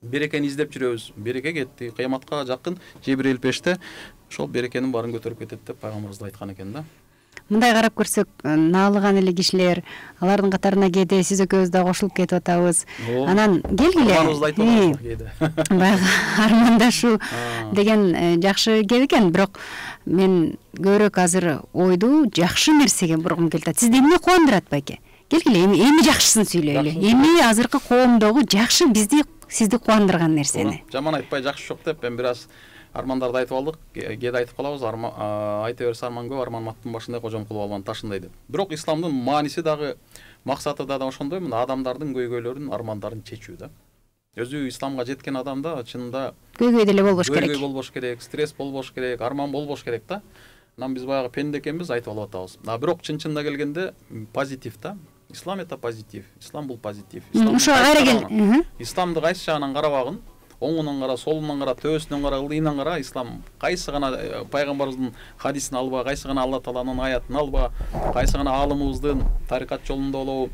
Берекени издеп жүрөбүз, береке кетти. Кыяматка жакын Жебирейил пеште ошол берекенин баарын көтөрүп кетет деп пайгамбарыбыз айткан экен да. Мындай карап көрсөк, наалыган эле кишилер, алардын катарына кээде сиз экөөбүз да кошулуп кетип атабыз. Анан келгиле. Арманыбызды айтып атабыз кээде. Баягы армандашуу деген жакшы кеп экен, бирок мен көбүрөөк азыр ойду жакшы нерсеге бургум келип атат. Сизди эмне кубандырат байке? Келгиле, эми жакшысын сүйлөйлү. Эми азыркы коомдогу жакшы сизди кубандырган нерсени. Жаман айтпай жакшы жок деп мен бир аз армандарды айтып алдык. Кээде айтып калабыз, айта берсе арман көп, арман аттын башындай, кожом кылып алган ташындай деп. Бирок исламдын мааниси дагы, максаты да ошондой, мына адамдардын көйгөйлөрүн, армандарын чечүү да. Өзү исламга жеткен адамда чынында көйгөй деле болбош керек. Көйгөй болбош керек, стресс болбош керек, арман болбош керек да. Анан биз баягы пенде экенбиз, айтып алып атабыз. Бирок чын-чынына келгенде позитив да. Ислам это позитив. Ислам бул позитив. Исламды кайсы жагынан карабагын, оңунан кара, солунан кара, төбөсүнөн кара, ылдыйынан кара, ислам кайсы гана пайгамбарыбыздын хадисин алба, кайсы гана Алла Тааланын аятын алба, кайсы гана аалымыбыздын тарикат жолунда болобу,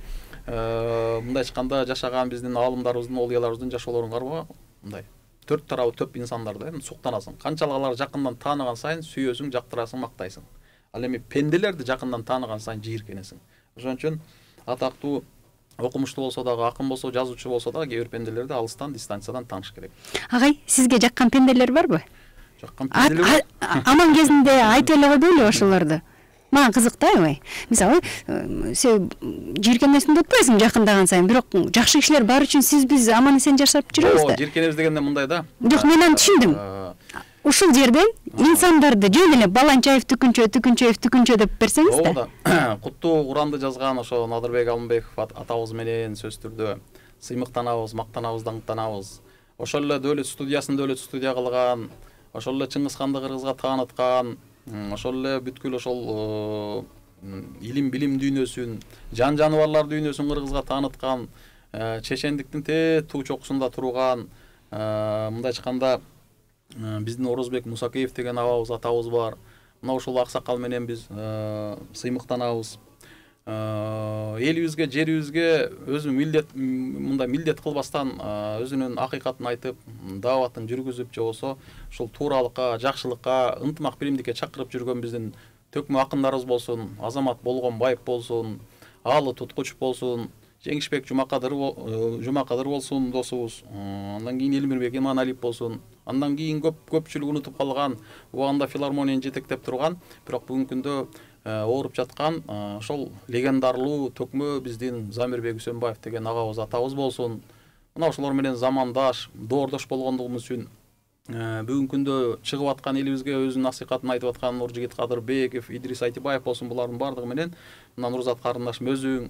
мындай айтканда жашаган биздин аалымдарыбыздын, олияларыбыздын жашоолорун карба, мындай төрт тарабы төп инсандар да, суктанасың. Канчалык аларды жакындан тааныган сайын сүйөсүң, жактырасың, мактайсың. Ал эми пенделерди жакындан тааныган сайын жийиркенесиң. Ошон үчүн атактуу, окумуштуу болсо дагы, акын болсо, жазуучу болсо дагы кээ бир пенделерди алыстан, дистанциядан тааныш керек. Агай, сизге жаккан пенделер барбы? Жаккан пенделер. Аман кезинде айтып эле койбойлу ошолорду. Мага кызык да аябай. Мисалы, сен жийиркенесиң деп атпайсың жакындаган сайын, бирок жакшы кишилер бар үчүн биз аман эсен жашап жүрөбүз да. Жийиркенебиз дегенде мындай да. Жок, мен аны түшүндүм. Ушул жерден инсандарды жөн эле Баланчаев түкүнчө деп берсеңиз да. Ооба. Куттуу Куранды жазган ошо Надырбек Алмбеков атабыз менен сөз түрдө сыймыктанабыз, мактанабыз, даңктанабыз. Ошол эле дөлөт студия кылган, ошол эле Чыңгыз ханды кыргызга тааныткан, ошол эле бүткүл ошол илим билим дүйнөсүн, жан жаныбарлар дүйнөсүн кыргызга тааныткан, чечендиктин туу чокусунда турган, мындай айтканда биздин Орозбек Мусакеев деген атабыз бар. Мына ушул аксакал менен биз сыймыктанабыз. Элибизге, жерибизге өзү милдет кылбастан өзүнүн акыйкатын айтып, дааватын жүргүзүп, же болсо ушул тууралыкка, жакшылыкка, ынтымак биримдикке чакырып жүргөн биздин төкмө акындарыбыз болсун, Азамат Болгонбаев болсун, Аалы Туткуч болсун, Жеңишбек Жумакадыр болсун досубуз, андан кийин Элмирбек Иманалиев болсун, андан кийин көпчүлүк унутуп калган, убагында филармонияны жетектеп турган, бирок бүгүнкү күндө ооруп жаткан ошол легендарлуу төкмө биздин Замирбек Үсөнбаев деген агабыз, атабыз болсун. Мына ошолор менен замандаш, доордош болгондугубуз үчүн бүгүнкү күндө чыгып аткан элибизге өзүнүн насихатын айтып аткан Нуржигит Кадырбеков, Идрис Айтыбаев болсун, булардын баардыгы менен мына Нурзат карындашым өзүң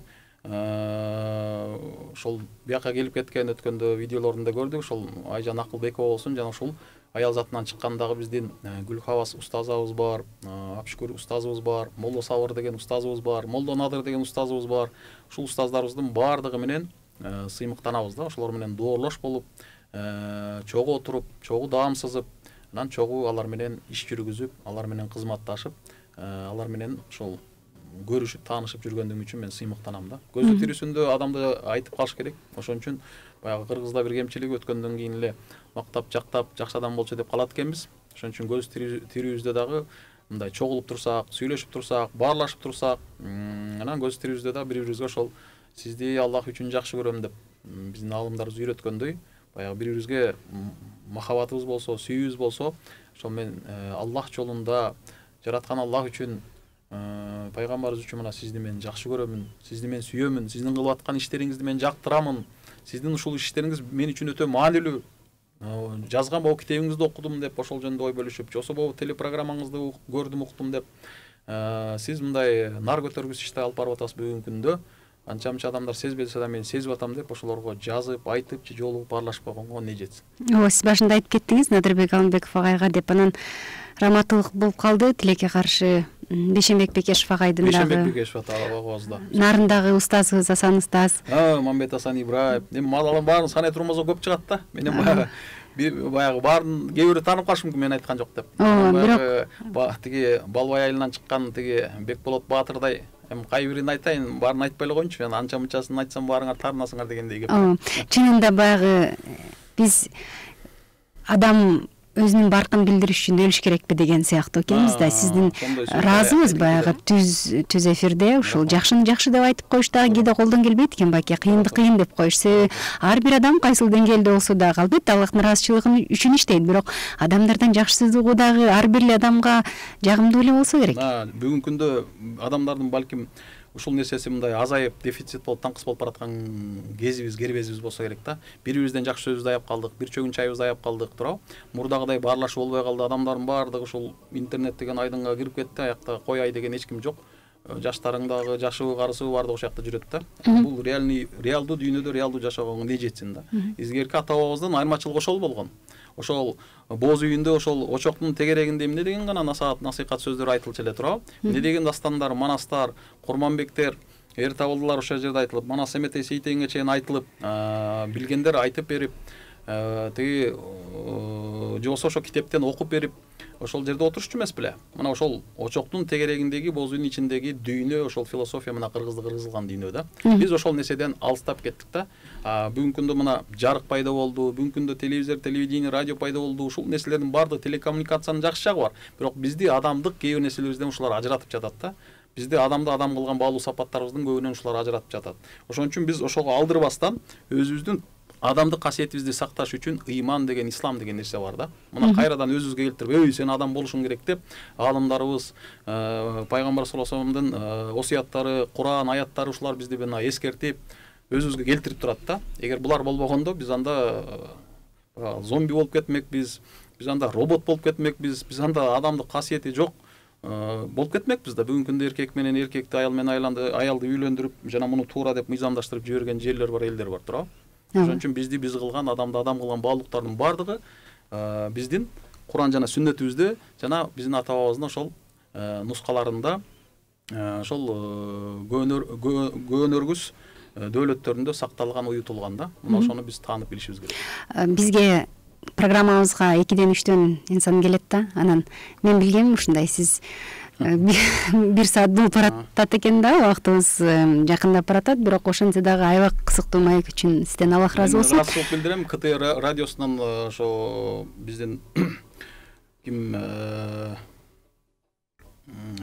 ошол бияка келип кеткен өткөндө видеолорунда көрдүк, ошол Айжан Акылбекова болсун, жана ушул аял затынан чыккандагы биздин Гүлхавас устазыбыз бар, Апшүкүр устазыбыз бар, Молдо Сабыр деген устазыбыз бар, Молдо Надыр деген устазыбыз бар. Ушул устаздарыбыздын баардыгы менен сыймыктанабыз да, ошолор менен доорлош болуп, чогуу отуруп, чогуу даам сызып, анан чогуу алар менен иш жүргүзүп, алар менен кызматташып, алар менен ошол көрүшүп, таанышып жүргөндүгүм үчүн мен сыймыктанам да. Көзү тирүүсүндө адамды айтып калыш керек. Ошон үчүн баягы Кыргызда бир кемчилиги өткөндөн кийин эле мактап, жактап, жакшы адам болчу деп калат экенбиз. Ошон үчүн көз тирүүбүздө дагы мындай чогулуп турсак, сүйлөшүп турсак, баарлашып турсак, анан көз тирибизде да бири бирибизге ошол сизди Аллах үчүн жакшы көрөм деп биздин аалымдарыбыз үйрөткөндөй, баягы бири бирибизге махабатыбыз болсо, сүйүүбүз болсо, ошол мен Аллах жолунда жараткан Аллах үчүн, пайгамбарыбыз үчүн мына сизди мен жакшы көрөмүн, сизди мен сүйөмүн, сиздин кылып аткан иштериңизди мен жактырамын, сиздин ушул иштериңиз мен үчүн өтө маанилүү, жазган могу китебиңизди окудум деп ошол жөнүндө ой бөлүшүп, же болбосо могу телепрограммаңызды көрдүм, уктум деп сиз мындай нар көтөргүс ишти алып барып атасыз бүгүнкү күндө, анча-мынча адамдар сезбесе да мен сезип атам деп ошолорго жазып, айтып же жолугуп баарлашып койгонго эмне жетсин. Ооба, сиз башында айтып кеттиңиз Надырбек Алымбеков агайга деп, анан раматылык болуп калды, тилекке каршы Бейшенбек Бекешев агайдын дагы. Бейшенбек Бекешев атабызда. Нарындагы устазыбыз Асан устаз. Мамбет Асан Ибраев. Эми мазалан баарын санай турмаса көп чыгат да. Менен баягы баарын кээ бирөө таанып калышы мүмкүн, мен айткан жок деп. Бирок тиги Балбай айылынан чыккан тиги Бекболот Баатырдай, эми кайбирин айтайын, баарын айтпай эле коеюнчу, мен анча мынчасын айтсам баарыңар таарынасыңар дегендей кеп. Чынында баягы биз адам өзүнүн баркын билдириш үчүн өлүш керекпи деген сыяктуу экенбиз да. Сиздин ыраазыбыз баягы түз эфирде ушул жакшыны жакшы деп айтып коюш дагы кээде колдон келбейт экен баке, кыйынды кыйын деп коюш. Ар бир адам кайсыл деңгээлде болсо дагы албетте Аллахтын ыраазычылыгы үчүн иштейт, бирок адамдардан жакшысыздыгы дагы ар бир эле адамга жагымдуу эле болсо керек. Бүгүнкү күндө адамдардын балким ушул нерсеси мындай азайып, дефицит болуп, таңкыс болуп бараткан кезибиз, кербезибиз болсо керек да. Бири бирибизден жакшы сөзүбүздү аяп калдык, бир чөгүн чайыбызды аяп калдык, туурабы? Мурдагыдай баарлашуу болбой калды, адамдардын баардыгы ушул интернет деген айдынга кирип кетти, аякта кой ай деген эч ким жок. Жаштарың дагы, жашыбы, карысыбы баардыгы ошол жакта жүрөт да. Бул реалдуу дүйнөдө реалдуу жашоого эмне жетсин да. Изгерки ата бабабыздын айырмачылыгы ошол болгон. Ошол боз үйүндө ошол очоктун тегерегинде эмне деген гана насихат сөздөр айтылчу эле, туурабы? Эмне деген дастандар, манастар, Курманбектер, эр табылдылар ошол жерде айтылып, Манас Эметей Сейтегенге чейин айтылып, билгендер айтып берип, тиги же болбосо ошол китептен окуп берип, ошол жерде отурчу эмес беле? Мына ошол очоктун тегерегиндеги, боз үйдүн ичиндеги дүйнө, ошол философия мына кыргызылган дүйнө да. Биз ошол нерседен алыстап кеттик да. Бүгүнкү күндө мына жарык пайда болду, бүгүнкү күндө телевизор, телевидение, радио пайда болду. Ушул нерселердин баардыгы телекоммуникациянын жакшы жагы бар. Бирок бизди адамдык кээ бир нерселерибизден ушулар ажыратып жатат да. Бизди адамды адам кылган баалуу сапаттарыбыздын көбүнөн ушулар ажыратып жатат. Ошон үчүн биз ошого алдырбастан өзүбүздүн адамдык касиетибизди сакташ үчүн ыйман деген, ислам деген нерсе бар да. Мына кайрадан өзүбүзгө келтирип, сен адам болушуң керек деп аалымдарыбыз, пайгамбар саллаллаху алейхи вассаламдын осуяттары, Куран аяттары ушулар бизди мына эскертип, өзүбүзгө келтирип турат да. Эгер булар болбогондо биз анда зомби болуп кетмекпиз, биз анда робот болуп кетмекпиз, биз анда адамдык касиети жок болуп кетмекпиз да. Бүгүнкү күндө эркек менен эркекти, аял менен аялды үйлөндүрүп, жана муну туура деп мыйзамдаштырып жиберген жерлер бар, элдер бар, туурабы? Ошон үчүн бизди биз кылган, адамды адам кылган баалуулуктардын баардыгы биздин Куран жана сүннетибизде, жана биздин ата бабабыздын ошол нускаларында, ошол көөнөргүс дөөлөттөрүндө сакталган, уютулган да. Мына ошону биз таанып билишибиз керек. Бизге программабызга 2-3 инсан келет да. Анан мен билгеним ушундай, сиз бир саат болуп баратат экен да, убактыбыз жакындап баратат, бирок ошентсе дагы аябай кызыктуу маек үчүн сизден Аллах ыраазы болсун. Ыраазычылык билдирем. КТ радиосунан ошо биздин ким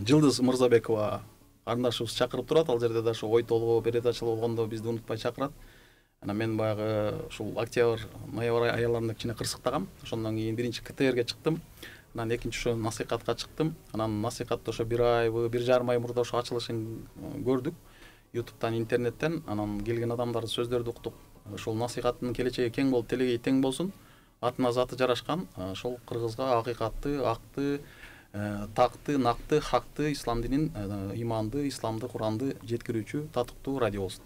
Жылдыз Мырзабекова карындашыбыз чакырып турат, ал жерде да ошо ой толгоо передачалар болгондо бизди унутпай чакырат. Анан мен баягы ушул октябрь, ноябрь аяларында кичине кырсыктагам. Ошондон кийин биринчи КТРге чыктым. Анан экинчи ошо насихатка чыктым. Анан насихатты ошо 1 ай, 1,5 ай мурда ошо ачылышын көрдүк. YouTube'дан, интернеттен. Анан келген адамдардын сөздөрдү уктук. Ошол насихаттын келечеги кең болуп, телеги тең болсун. Атына заты жарашкан. Ошол кыргызга акыйкатты, акты, такты, накты, хакты, ислам динин, иманды, исламды, Куранды жеткирүүчү татыктуу радио болсун.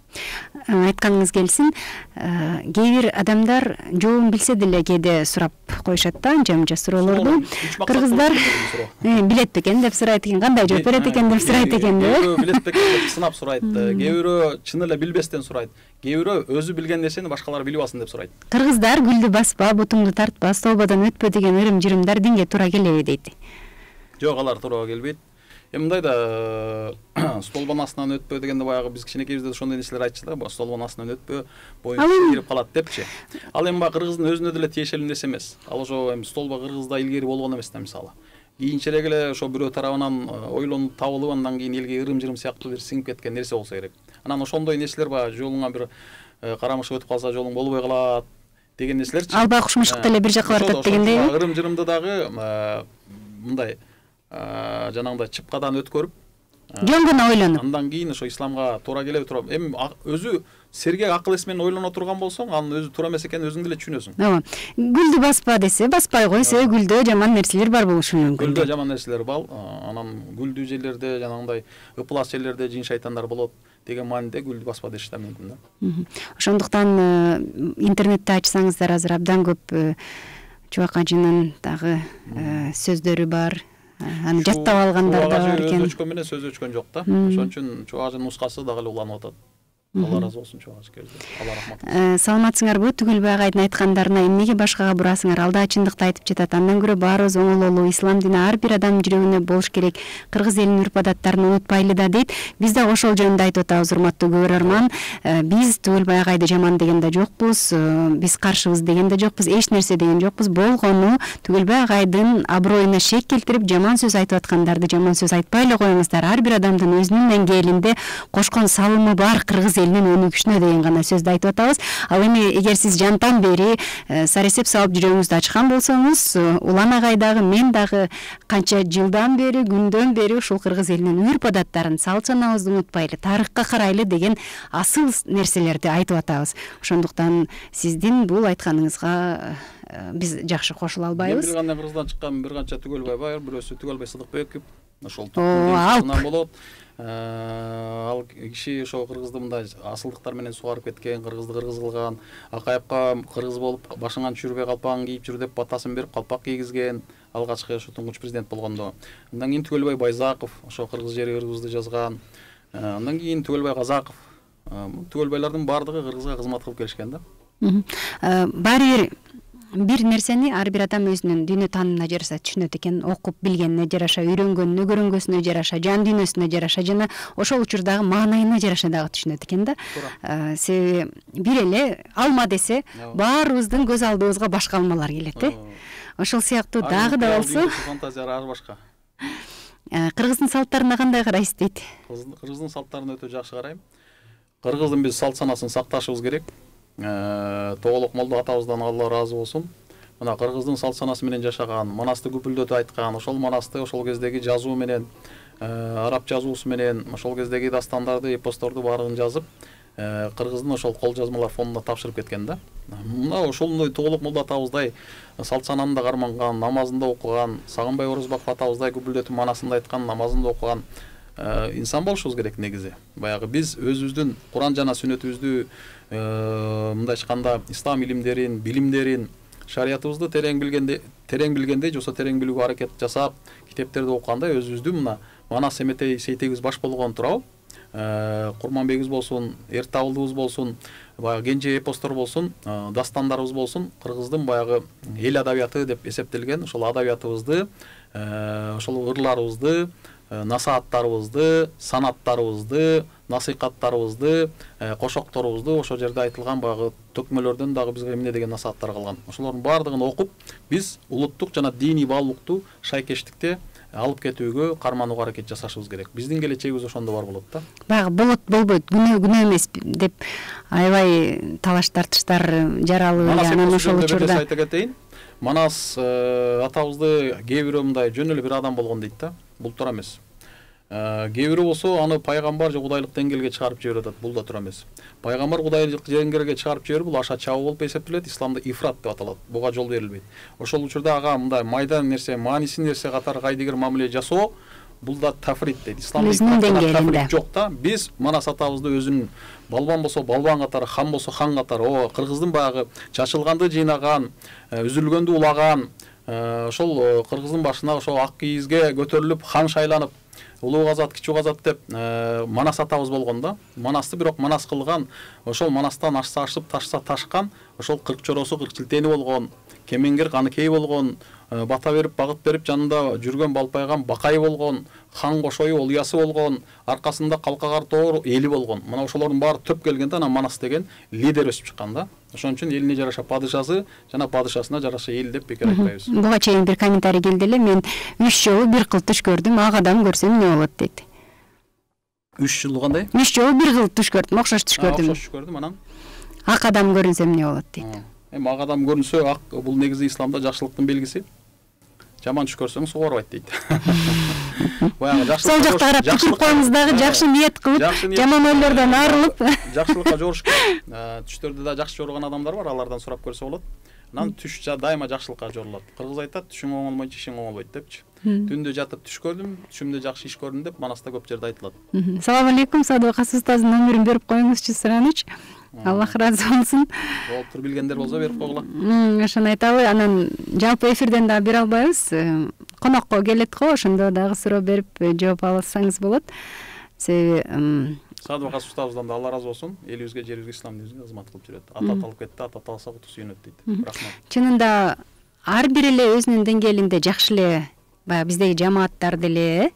Айтканыңыз келсин. Кээ бир адамдар жообун билсе деле кээде сурап коюшат да, анча-мынча суроолорду. Кыргыздар билет бекен деп сурайт экен, кандай жооп берет экен деп сурайт экен да. Кээ бирөө билет бекен деп сынап сурайт, кээ бирөө чын эле билбестен сурайт, кээ бирөө өзү билген нерсени башкалар билип алсын деп сурайт. Кыргыздар гүлдү баспа, бутуңду тартпа, столбодон өтпө деген ырым-жырымдар динге туура келеби дейт. Жок, алар туура келбейт. Эми мындай да, столбонун астынан өтпө дегенде баягы биз кичинекейбизде ошондой нерселер айтчу да, столбонун астынан өтпө, боюң кирип калат депчи. Ал эми баягы кыргыздын өзүнө деле тиешелүү нерсе эмес. Ал ошо эми столбо кыргызда илгери болгон эмес да, мисалы. кийинчерээк эле ошо бирөө тарабынан ойлонуп табылып андан кийин элге ырым-жырым сыяктуу бир сиңип кеткен нерсе болсо керек. Анан ошондой нерселер баягы жолуңа бир карамыш өтүп калса жолуң болбой калат деген нерселерчи. Албай кушмуштук деле бир жакка баратат дегендей. Ырым-жырымды дагы мындай жанагындай чыпкадан өткөрүп жөн гана ойлонуп андан кийин ошо исламга туура келеби туура эми өзү сергек акыл эс менен ойлоно турган болсоң анын өзү туура эмес экенин өзүң деле түшүнөсүң. ооба, гүлдү баспа десе баспай кой, себеби гүлдө жаман нерселер бар болушу мүмкүн. Гүлдө жаман нерселер бар, анан гүлдүү жерлерде жанагындай ыплас жерлерде жин шайтандар болот деген мааниде гүлдү баспа деши да мүмкүн да. Ошондуктан интернетте ачсаңыздар азыр абдан көп Чубак ажынын дагы сөздөрү бар. Аны жаттап алгандар да бар экен. Өчкөн менен сөз өчкөн жок да. Ошон үчүн Чубак ажынын нускасы дагы эле уланып атат. Алла ыраазы болсун Чубак ажыкерден. Алла рахмат. Саламатсыңарбы? Түгөлбай агайдын айткандарына эмнеге башкага бурасыңар? Алда чындыкты айтып жатат. Андан көрө баарыбыз оңололуу. Ислам дини ар бир адамдын жүрөгүнө болуш керек. Кыргыз элинин үрп-адаттарын унутпайлы да дейт. Биз да ошол жөнүндө айтып атабыз, урматтуу көрөрман. Биз Түгөлбай агайды жаман деген да жокпуз. Биз каршыбыз деген да жокпуз. Эч нерсе деген жокпуз. Болгону Түгөлбай агайдын аброюна шек келтирип, жаман сөз айтып аткандарды жаман сөз айтпай эле коюңуздар. Ар бир адамдын өзүнүн деңгээлинде кошкон салымы бар Кыргыз элинин өнүгүшүнө деген гана сөздү айтып атабыз. Ал эми эгер сиз жантан бери саресеп салып жүрөгүңүздү ачкан болсоңуз, Улан агай дагы мен дагы канча жылдан бери, күндөн бери ушул Кыргыз элинин үрп-адаттарын, салт санаабызды унутпайлы, тарыхка карайлы деген асыл нерселерди айтып атабыз. Ошондуктан сиздин бул айтканыңызга биз жакшы кошула албайбыз. Бир кандай Кыргыздан чыккан бир канча Түгөлбай бар, бирөөсү Түгөлбай Сыдыкбеков, ошол топтун болот. Ал киши ошо кыргызды мындай асылдыктар менен сугарып кеткен, кыргызды кыргыз кылган, Акаевка кыргыз болуп башыңан түшүрбөй калпагын кийип жүр деп батасын берип калпак кийгизген, алгачкы ошо туңгуч президент болгондо. Андан кийин Түгөлбай Байзаков ошо кыргыз жери кыргызды жазган. Андан кийин Түгөлбай Казаков. Түгөлбайлардын баардыгы кыргызга кызмат кылып келишкен да. Баары бир нерсени ар бир адам өзүнүн дүйнө таанымына жараша түшүнөт экен, окуп билгенине жараша, үйрөнгөнүнө, көрөнгөсүнө жараша, жан дүйнөсүнө жараша жана ошол учурдагы маанайына жараша дагы түшүнөт экен да. Себеби бир эле алма десе баарыбыздын көз алдыбызга башка алмалар келет, ошол сыяктуу дагы да болсо фантазиялар башка. Кыргыздын салттарына кандай карайсыз дейт? Кыргыздын салттарына өтө жакшы карайм. Кыргыздын биз салт санасын сакташыбыз керек. Тоголок молдо атабыздан Алла ыраазы болсун. Мына кыргыздын салт санасы менен жашаган, манасты күпүлдөтүп айткан, ошол манасты ошол кездеги жазуу менен, араб жазуусу менен, ошол кездеги дастандарды, эпосторду баарын жазып, кыргыздын ошол кол жазмалар фондуна тапшырып кеткен да. Мына ошондой Тоголок молдо атабыздай салт сананы да карманган, намазын да окуган, Сагынбай Орозбаков атабыздай күпүлдөтүп манасын да айткан, намазын да окуган инсан болушубуз керек негизи. Баягы биз өзүбүздүн Куран жана сүннөтүбүздү мындай айтканда ислам илимдерин, билимдерин, шариятыбызды терең билгендей, жосо терең билүүгө аракет жасап, китептерди окуганда өзүбүздүн мына Манас Эметей Сейтегибиз баш болгон турабы, Курманбегибиз болсун, Эртабылдыбыз болсун, баягы кенже эпостор болсун, дастандарыбыз болсун, кыргыздын баягы эл адабияты деп эсептелген ошол адабиятыбызды, ошол ырларыбызды, насааттарыбызды, санаттарыбызды, насыйкаттарыбызды, кошокторубузду ошол жерде айтылган баягы төкмөлөрдөн дагы бизге эмне деген насааттар калган. Ошолордун баардыгын окуп, биз улуттук жана диний баалуулукту шайкештикте алып кетүүгө, карманууга аракет жасашыбыз керек. Биздин келечегибиз ошондо бар болот да. Баягы болот болбойт, күнөө эмес деп аябай талаш тартыштар жаралуу, анан ошол учурда айта кетейин. Манас атабызды кээ бирөө мындай жөн эле бир адам болгон дейт да. Бул туура эмес. Кээ бирөө болсо аны пайгамбар же кудайлык деңгээлге чыгарып жиберип атат. Бул да туура эмес. Пайгамбар кудайлык деңгээлге чыгарып жиберүү бул аша чабуу болуп эсептелет. Исламда ифрат деп аталат. Буга жол берилбейт. Ошол учурда ага мындай майдан нерсе, маанисиз нерсе катары кайдыгер мамиле жасоо бул да тафрит дейт. Исламда тафрит жок да. Биз Манас атабызды өзүнүн балбан болсо балбан катары, хан болсо хан катары, кыргыздын баягы чачылганды жыйнаган, үзүлгөндү улаган, ошол кыргыздын башына ошол ак кийизге көтөрүлүп хан шайланып, улуу казат, кичүү казат деп Манас атабыз болгон да. Манасты бирок манас кылган, ошол манастан ашса ашып, ташса ташкан, ошол 40 чоросу 40 чилтени болгон, кемеңгер каныкей болгон, бата берип багыт берип жанында жүргөн балпайган бакай болгон, хан кошою олуясы болгон, аркасында калкагар тоор эли болгон. Мына ошолордун баары төп келгенде анан Манас деген лидер өсүп чыккан да. Ошон үчүн элине жараша падышасы жана падышасына жараша эл деп бекер айтпайбыз. Буга чейин бир комментарий келди эле, мен 3 жолу бир кыл туш көрдүм, ак адам көрсөм эмне болот дейт. 3 жолу кандай? 3 жолу бир кыл туш көрдүм, окшош туш көрдүм. Окшош көрдүм, анан Ак адам көрүнсө эмне болот дейт. Эми ак адам көрүнсө, ак бул негизи исламда жакшылыктын белгиси. Жаман түш көрсөң суга барбайт дейт. Баягы жакшылыкка сол жакта карап түшүп коюңуз дагы жакшы ниет кылып, жаман ойлордон арылып, жакшылыкка жоруш керек. Түштөрдө да жакшы жоргон адамдар бар, алардан сурап көрсө болот. Анан түш дайыма жакшылыкка жорулат. Кыргыз айтат, түшүң оңолмойчу ишиң оңолбойт депчи. Түндө жатып түш көрдүм, түшүмдө жакшы иш көрдүм деп Манаста көп жерде айтылат. Салам алейкум, Садыкас устаздын номерин берип коюңузчу Сыраныч. Аллах разы болсун. Болуптур, билгендер болсо берип койгула. Ошону айталы, анан жалпы эфирден да бере албайбыз. Конокко келет го, ошондо дагы суроо берип жооп алсаңыз болот. Себеби Садыкас устабыздан да Алла разы болсун. Элибизге, жерибизге, ислам динибизге кызмат кылып жүрөт. Ата алып кетти, ата алса куту сүйүнөт дейт. Рахмат. Чынында ар бир эле өзүнүн деңгээлинде жакшы эле, баягы биздеги жамааттар деле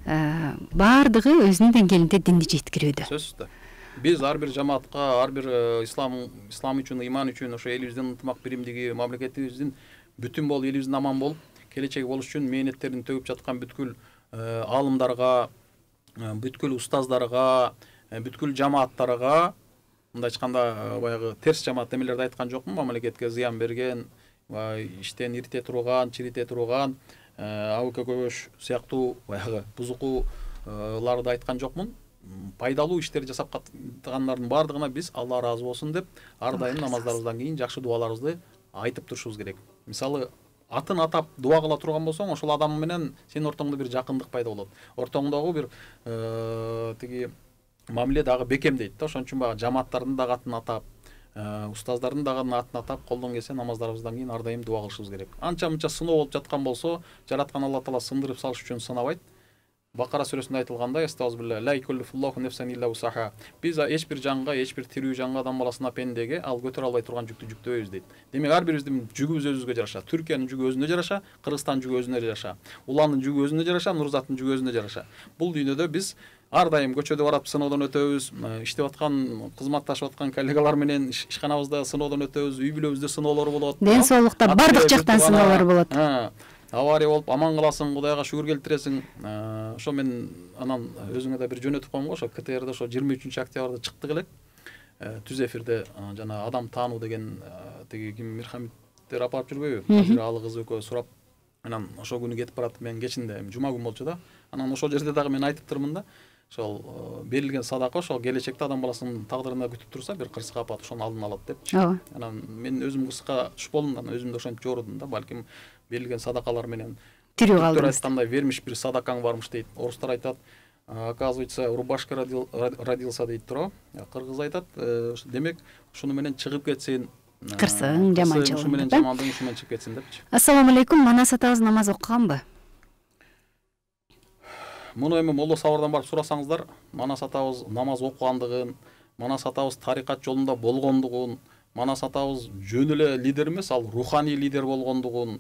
баардыгы өзүнүн деңгээлинде динди жеткирүүдө. Сөзсүз да. Биз ар бир жамаатка, ар бир ислам үчүн, иман үчүн, ошо элибиздин ынтымак биримдиги, мамлекетибиздин бүтүн болуп, элибиздин аман болуп, келечеги болуш үчүн мээнеттерин төгүп жаткан бүткүл аалымдарга, бүткүл устаздарга, бүткүл жамааттарга, мындай айтканда баягы терс жамаат эмелерди айткан жокмун, мамлекетке зыян берген, иштен ирите турган, чирите турган, АУК көбөш сыяктуу баягы бузукуларды айткан жокмун. Пайдалуу иштер жасап каткандардын баардыгына биз Алла разы болсун деп ар дайым намаздарыбыздан кийин жакшы дуаларыбызды айтып турушубуз керек. Мисалы, атын атап дуа кыла турган болсоң, ошол адам менен сенин ортоңдо бир жакындык пайда болот. Ортоңдогу бир тиги мамиле дагы бекемдейт да. Ошон үчүн баягы жамааттардын дагы атын атап, устаздардын дагы атын атап, колдон келсе намаздарыбыздан кийин ар дайым дуа кылышыбыз керек. Анча-мынча сыноо болуп жаткан болсо, жараткан Алла Таала сындырып салыш үчүн сынабайт. Бакара сүрөсүндө айтылгандай, астагфирулла, ла юкаллифуллаху нефсан илля усаха. Биз эч бир жанга, эч бир тирүү жанга, адам баласына, пендеге ал көтөрө албай турган жүктү жүктөбөйбүз дейт. Демек ар бирибиздин жүгүбүз өзүбүзгө жараша. Түркиянын жүгү өзүнө жараша, Кыргызстандын жүгү өзүнө жараша, Уландын жүгү өзүнө жараша, Нурзаттын жүгү өзүнө жараша. Бул дүйнөдө биз ар дайым көчөдө барып сыноодон өтөбүз, иштеп аткан, кызматташып аткан коллегалар менен ишканабызда сыноодон өтөбүз, үй бүлөбүздө сыноолор болот. Ден соолукта бардык жактан сыноолор болот. Авария болуп аман каласың, Кудайга шүгүр келтиресиң. Ошо мен анан өзүңө да бир жөнөтүп коем го, ошо КТРде ошо 23-октябрда чыктык элек. Түз эфирде жана адам таануу деген тиги ким Мирхамиттер апарып жүрбөйбү? Азыр алы кыз экөө сурап, анан ошол күнү кетип барат. Мен кечинде жума күн болчу да. Анан ошол жерде дагы мен айтып турмун да. Ошол берилген садака ошол келечекте адам баласынын тагдырына күтүп турса, бир кырсык апат ошону алдын алат депчи. Анан мен өзүм кырсыкка түшүп болдум, анан өзүмдү ошентип жоорудум да. Балким берилген садакалар менен тирүү калдым. Айткандай вермиш бир садакаң бармыш дейт. Орустар айтат, оказывается, рубашка родился дейт тура. Кыргыз айтат, демек ушуну менен чыгып кетсин. Кырсың, жаманчылык. Ушу менен жамандык ушу менен чыгып кетсин депчи. Ассаламу алейкум, Манас атабыз намаз окуганбы? Муну эми Молдо Сабырдан барып сурасаңыздар, Манас атабыз намаз окугандыгын, Манас атабыз тарикат жолунда болгондугун, Манас атабыз жөн эле лидер эмес, ал руханий лидер болгондугун,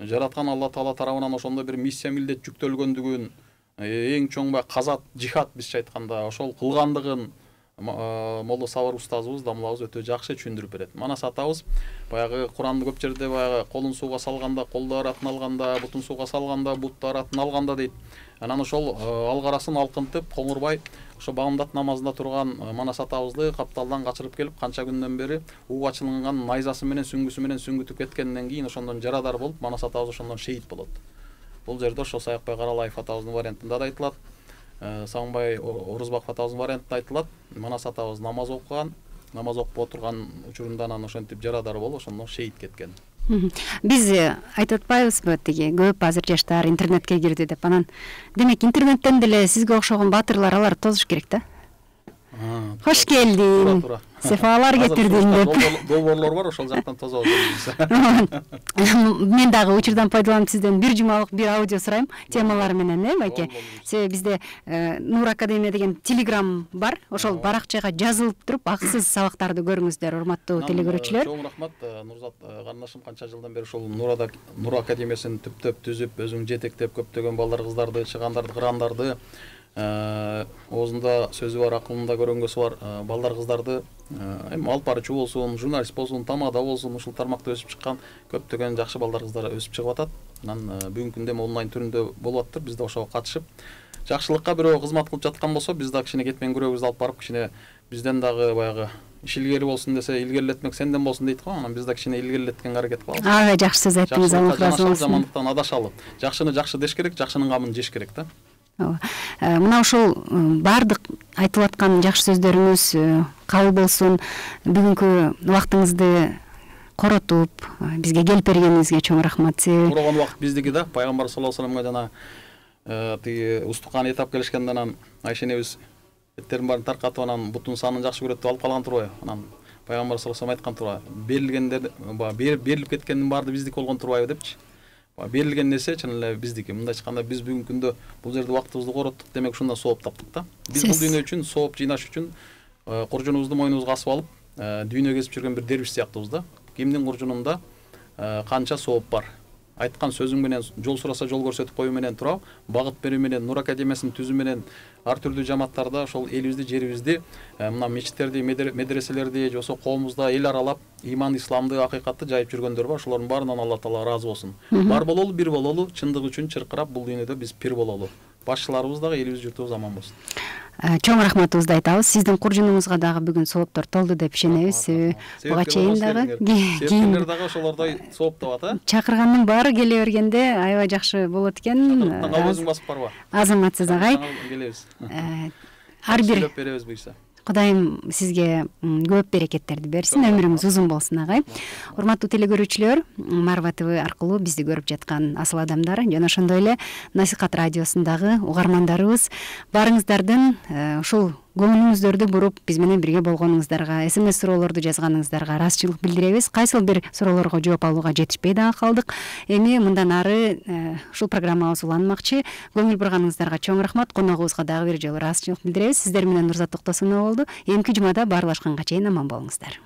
жараткан Алла Таала тарабынан ошондой бир миссия милдет жүктөлгөндүгүн, эң чоң казат, жихад бизче айтканда ошол кылгандыгын Молдо Сабыр устазыбыз, дамлабыз өтө жакшы түшүндүрүп берет. Манас атабыз баягы Куранды көп жерде баягы колун сууга салганда, колдор атын алганда, бутун сууга салганда, буттар атын алганда дейт. Анан ошол алгарасын алкынтып, коңурбай ошо бамдат намазында турган Манас атабызды капталдан качырып келип, канча күндөн бери ууга чылынган найзасы менен сүңгүсү менен сүңгүтүп кеткенден кийин ошондон жарадар болуп, Манас атабыз ошондон шейит болот. Бул жерде ошо Саякбай Каралаев атабыздын вариантында да айтылат. Сагынбай Орузбаков атабыздын вариантында айтылат. Манас атабыз намаз окуган, намаз окуп отурган учурунда анан ошентип жарадар болуп, ошондон шейит кеткен. Биз айтып атпайбызбы, тиги көп азыр жаштар интернетке кирди деп. Анан демек интернеттен деле сизге окшогон баатырлар алар тозуш керек да? Кош келдиң. Туура. Сефалар кетирдиң деп. Долбоорлор бар, ошол жактан тозобуз. Мен дагы учурдан пайдаланып сизден бир жумалык бир аудио сурайм темалар менен, байке. Себеби бизде Нур Академия деген Telegram бар. Ошол баракчага жазылып туруп, акысыз сабактарды көрүңүздөр, урматтуу телекөрүүчүлөр. Чоң рахмат, Нурзат карындашым, канча жылдан бери ошол Нур Академиясын түптөп түзүп, өзүң жетектеп көптөгөн балдар, кыздарды, чыгандарды, кырандарды, оозунда сөзү бар, акылында көрөнгөсү бар балдар, кыздарды эми алып баруучу болсун, журналист болсун, тамада болсун, ушул тармакта өсүп чыккан көптөгөн жакшы балдар, кыздар өсүп чыгып атат. Анан бүгүнкү күндө онлайн түрүндө болуп атыптыр. Биз да ошого катышып, жакшылыкка бирөө кызмат кылып жаткан болсо, биз да кичине кетмен күрөгүбүздү алып барып, кичине бизден дагы баягы иш илгери болсун десе, илгерилетмек сенден болсун дейт го. Анан биз да кичине илгерилеткенге аракет кылабыз. Ага, жакшы сөз айттыңыз, Алла разы болсун. Жамандыктан адашалы. Жакшыны жакшы деш керек, жакшынын камын жеш керек да. Мына ошол баардык айтылып аткан жакшы сөздөрүңүз кабыл болсун. Бүгүнкү убактыңызды коротуп, бизге келип бергениңизге чоң рахмат. Ураган убакыт биздики да. Пайгамбар саллаллаху алейхи вассаламга жана тиги устукан этап келишкенде, анан Айша энебиз эттерин баарын таркатып, анан бутун санын жакшы көрөт деп алып калган турбайбы? Анан Пайгамбар саллаллаху алейхи айткан турбайбы? Берилгендер, берилип кеткендин баары биздики болгон турбайбы депчи. Берилген нерсе чын эле биздики. Мындай айтканда, биз бүгүнкү күндө бул жерде убактыбызды короттук, демек ушундан сооп таптык да. Биз бул дүйнө үчүн сооп жыйнаш үчүн куржунубузду мойнубузга асып алып, дүйнө кезип жүргөн бир дервиш сыяктуубуз да. Кимдин куржунунда канча сооп бар? Айткан сөзүң менен, жол сураса жол көрсөтүп коюу менен турап, багыт берүү менен, Нур Академиясын түзүү менен ар түрдүү жамааттарда ошол элибизди, жерибизди, мына мечиттерди, медреселерди, же болбосо коомубузда эл аралап, иман, исламды, акыйкатты жайып жүргөндөр бар. Ошолордун баарынан Алла Таала ыраазы болсун. Бар бололу, бир бололу, чындык үчүн чыркырап бул дүйнөдө биз пир бололу. Башчыларыбыз дагы, элибиз, журтубуз аман болсун. Чоң рахматыбызды айтабыз. Сиздин куржунуңузга дагы бүгүн сооптор толду деп ишенебиз. Буга чейин дагы себепкерлер дагы ошолордой сооптоп чакыргандын баары келе бергенде аябай жакшы болот экен. Өзүң басып барба. Азаматсыз агай. Келебиз. Ар бир сөйлөп беребиз буйса. Кудайым сизге көп берекеттерди берсин, өмүрүңүз узун болсун агай. Урматтуу телекөрүүчүлөр, Марва ТВ аркылуу бизди көрүп жаткан асыл адамдар жана ошондой эле Насихат радиосундагы угармандарыбыз, баарыңыздардын ушул көңүлүңүздөрдү буруп биз менен бирге болгонуңуздарга, СМС суроолорду жазганыңыздарга ыраазычылык билдиребиз. Кайсыл бир суроолорго жооп алууга жетишпей дагы калдык. Эми мындан ары ушул программабыз уланмакчы. Көңүл бурганыңыздарга чоң рахмат. Коногубузга дагы бир жолу ыраазычылык билдиребиз. Сиздер менен Нурзат Токтосунова болду. Эмки жумада баарлашканга чейин аман болуңуздар.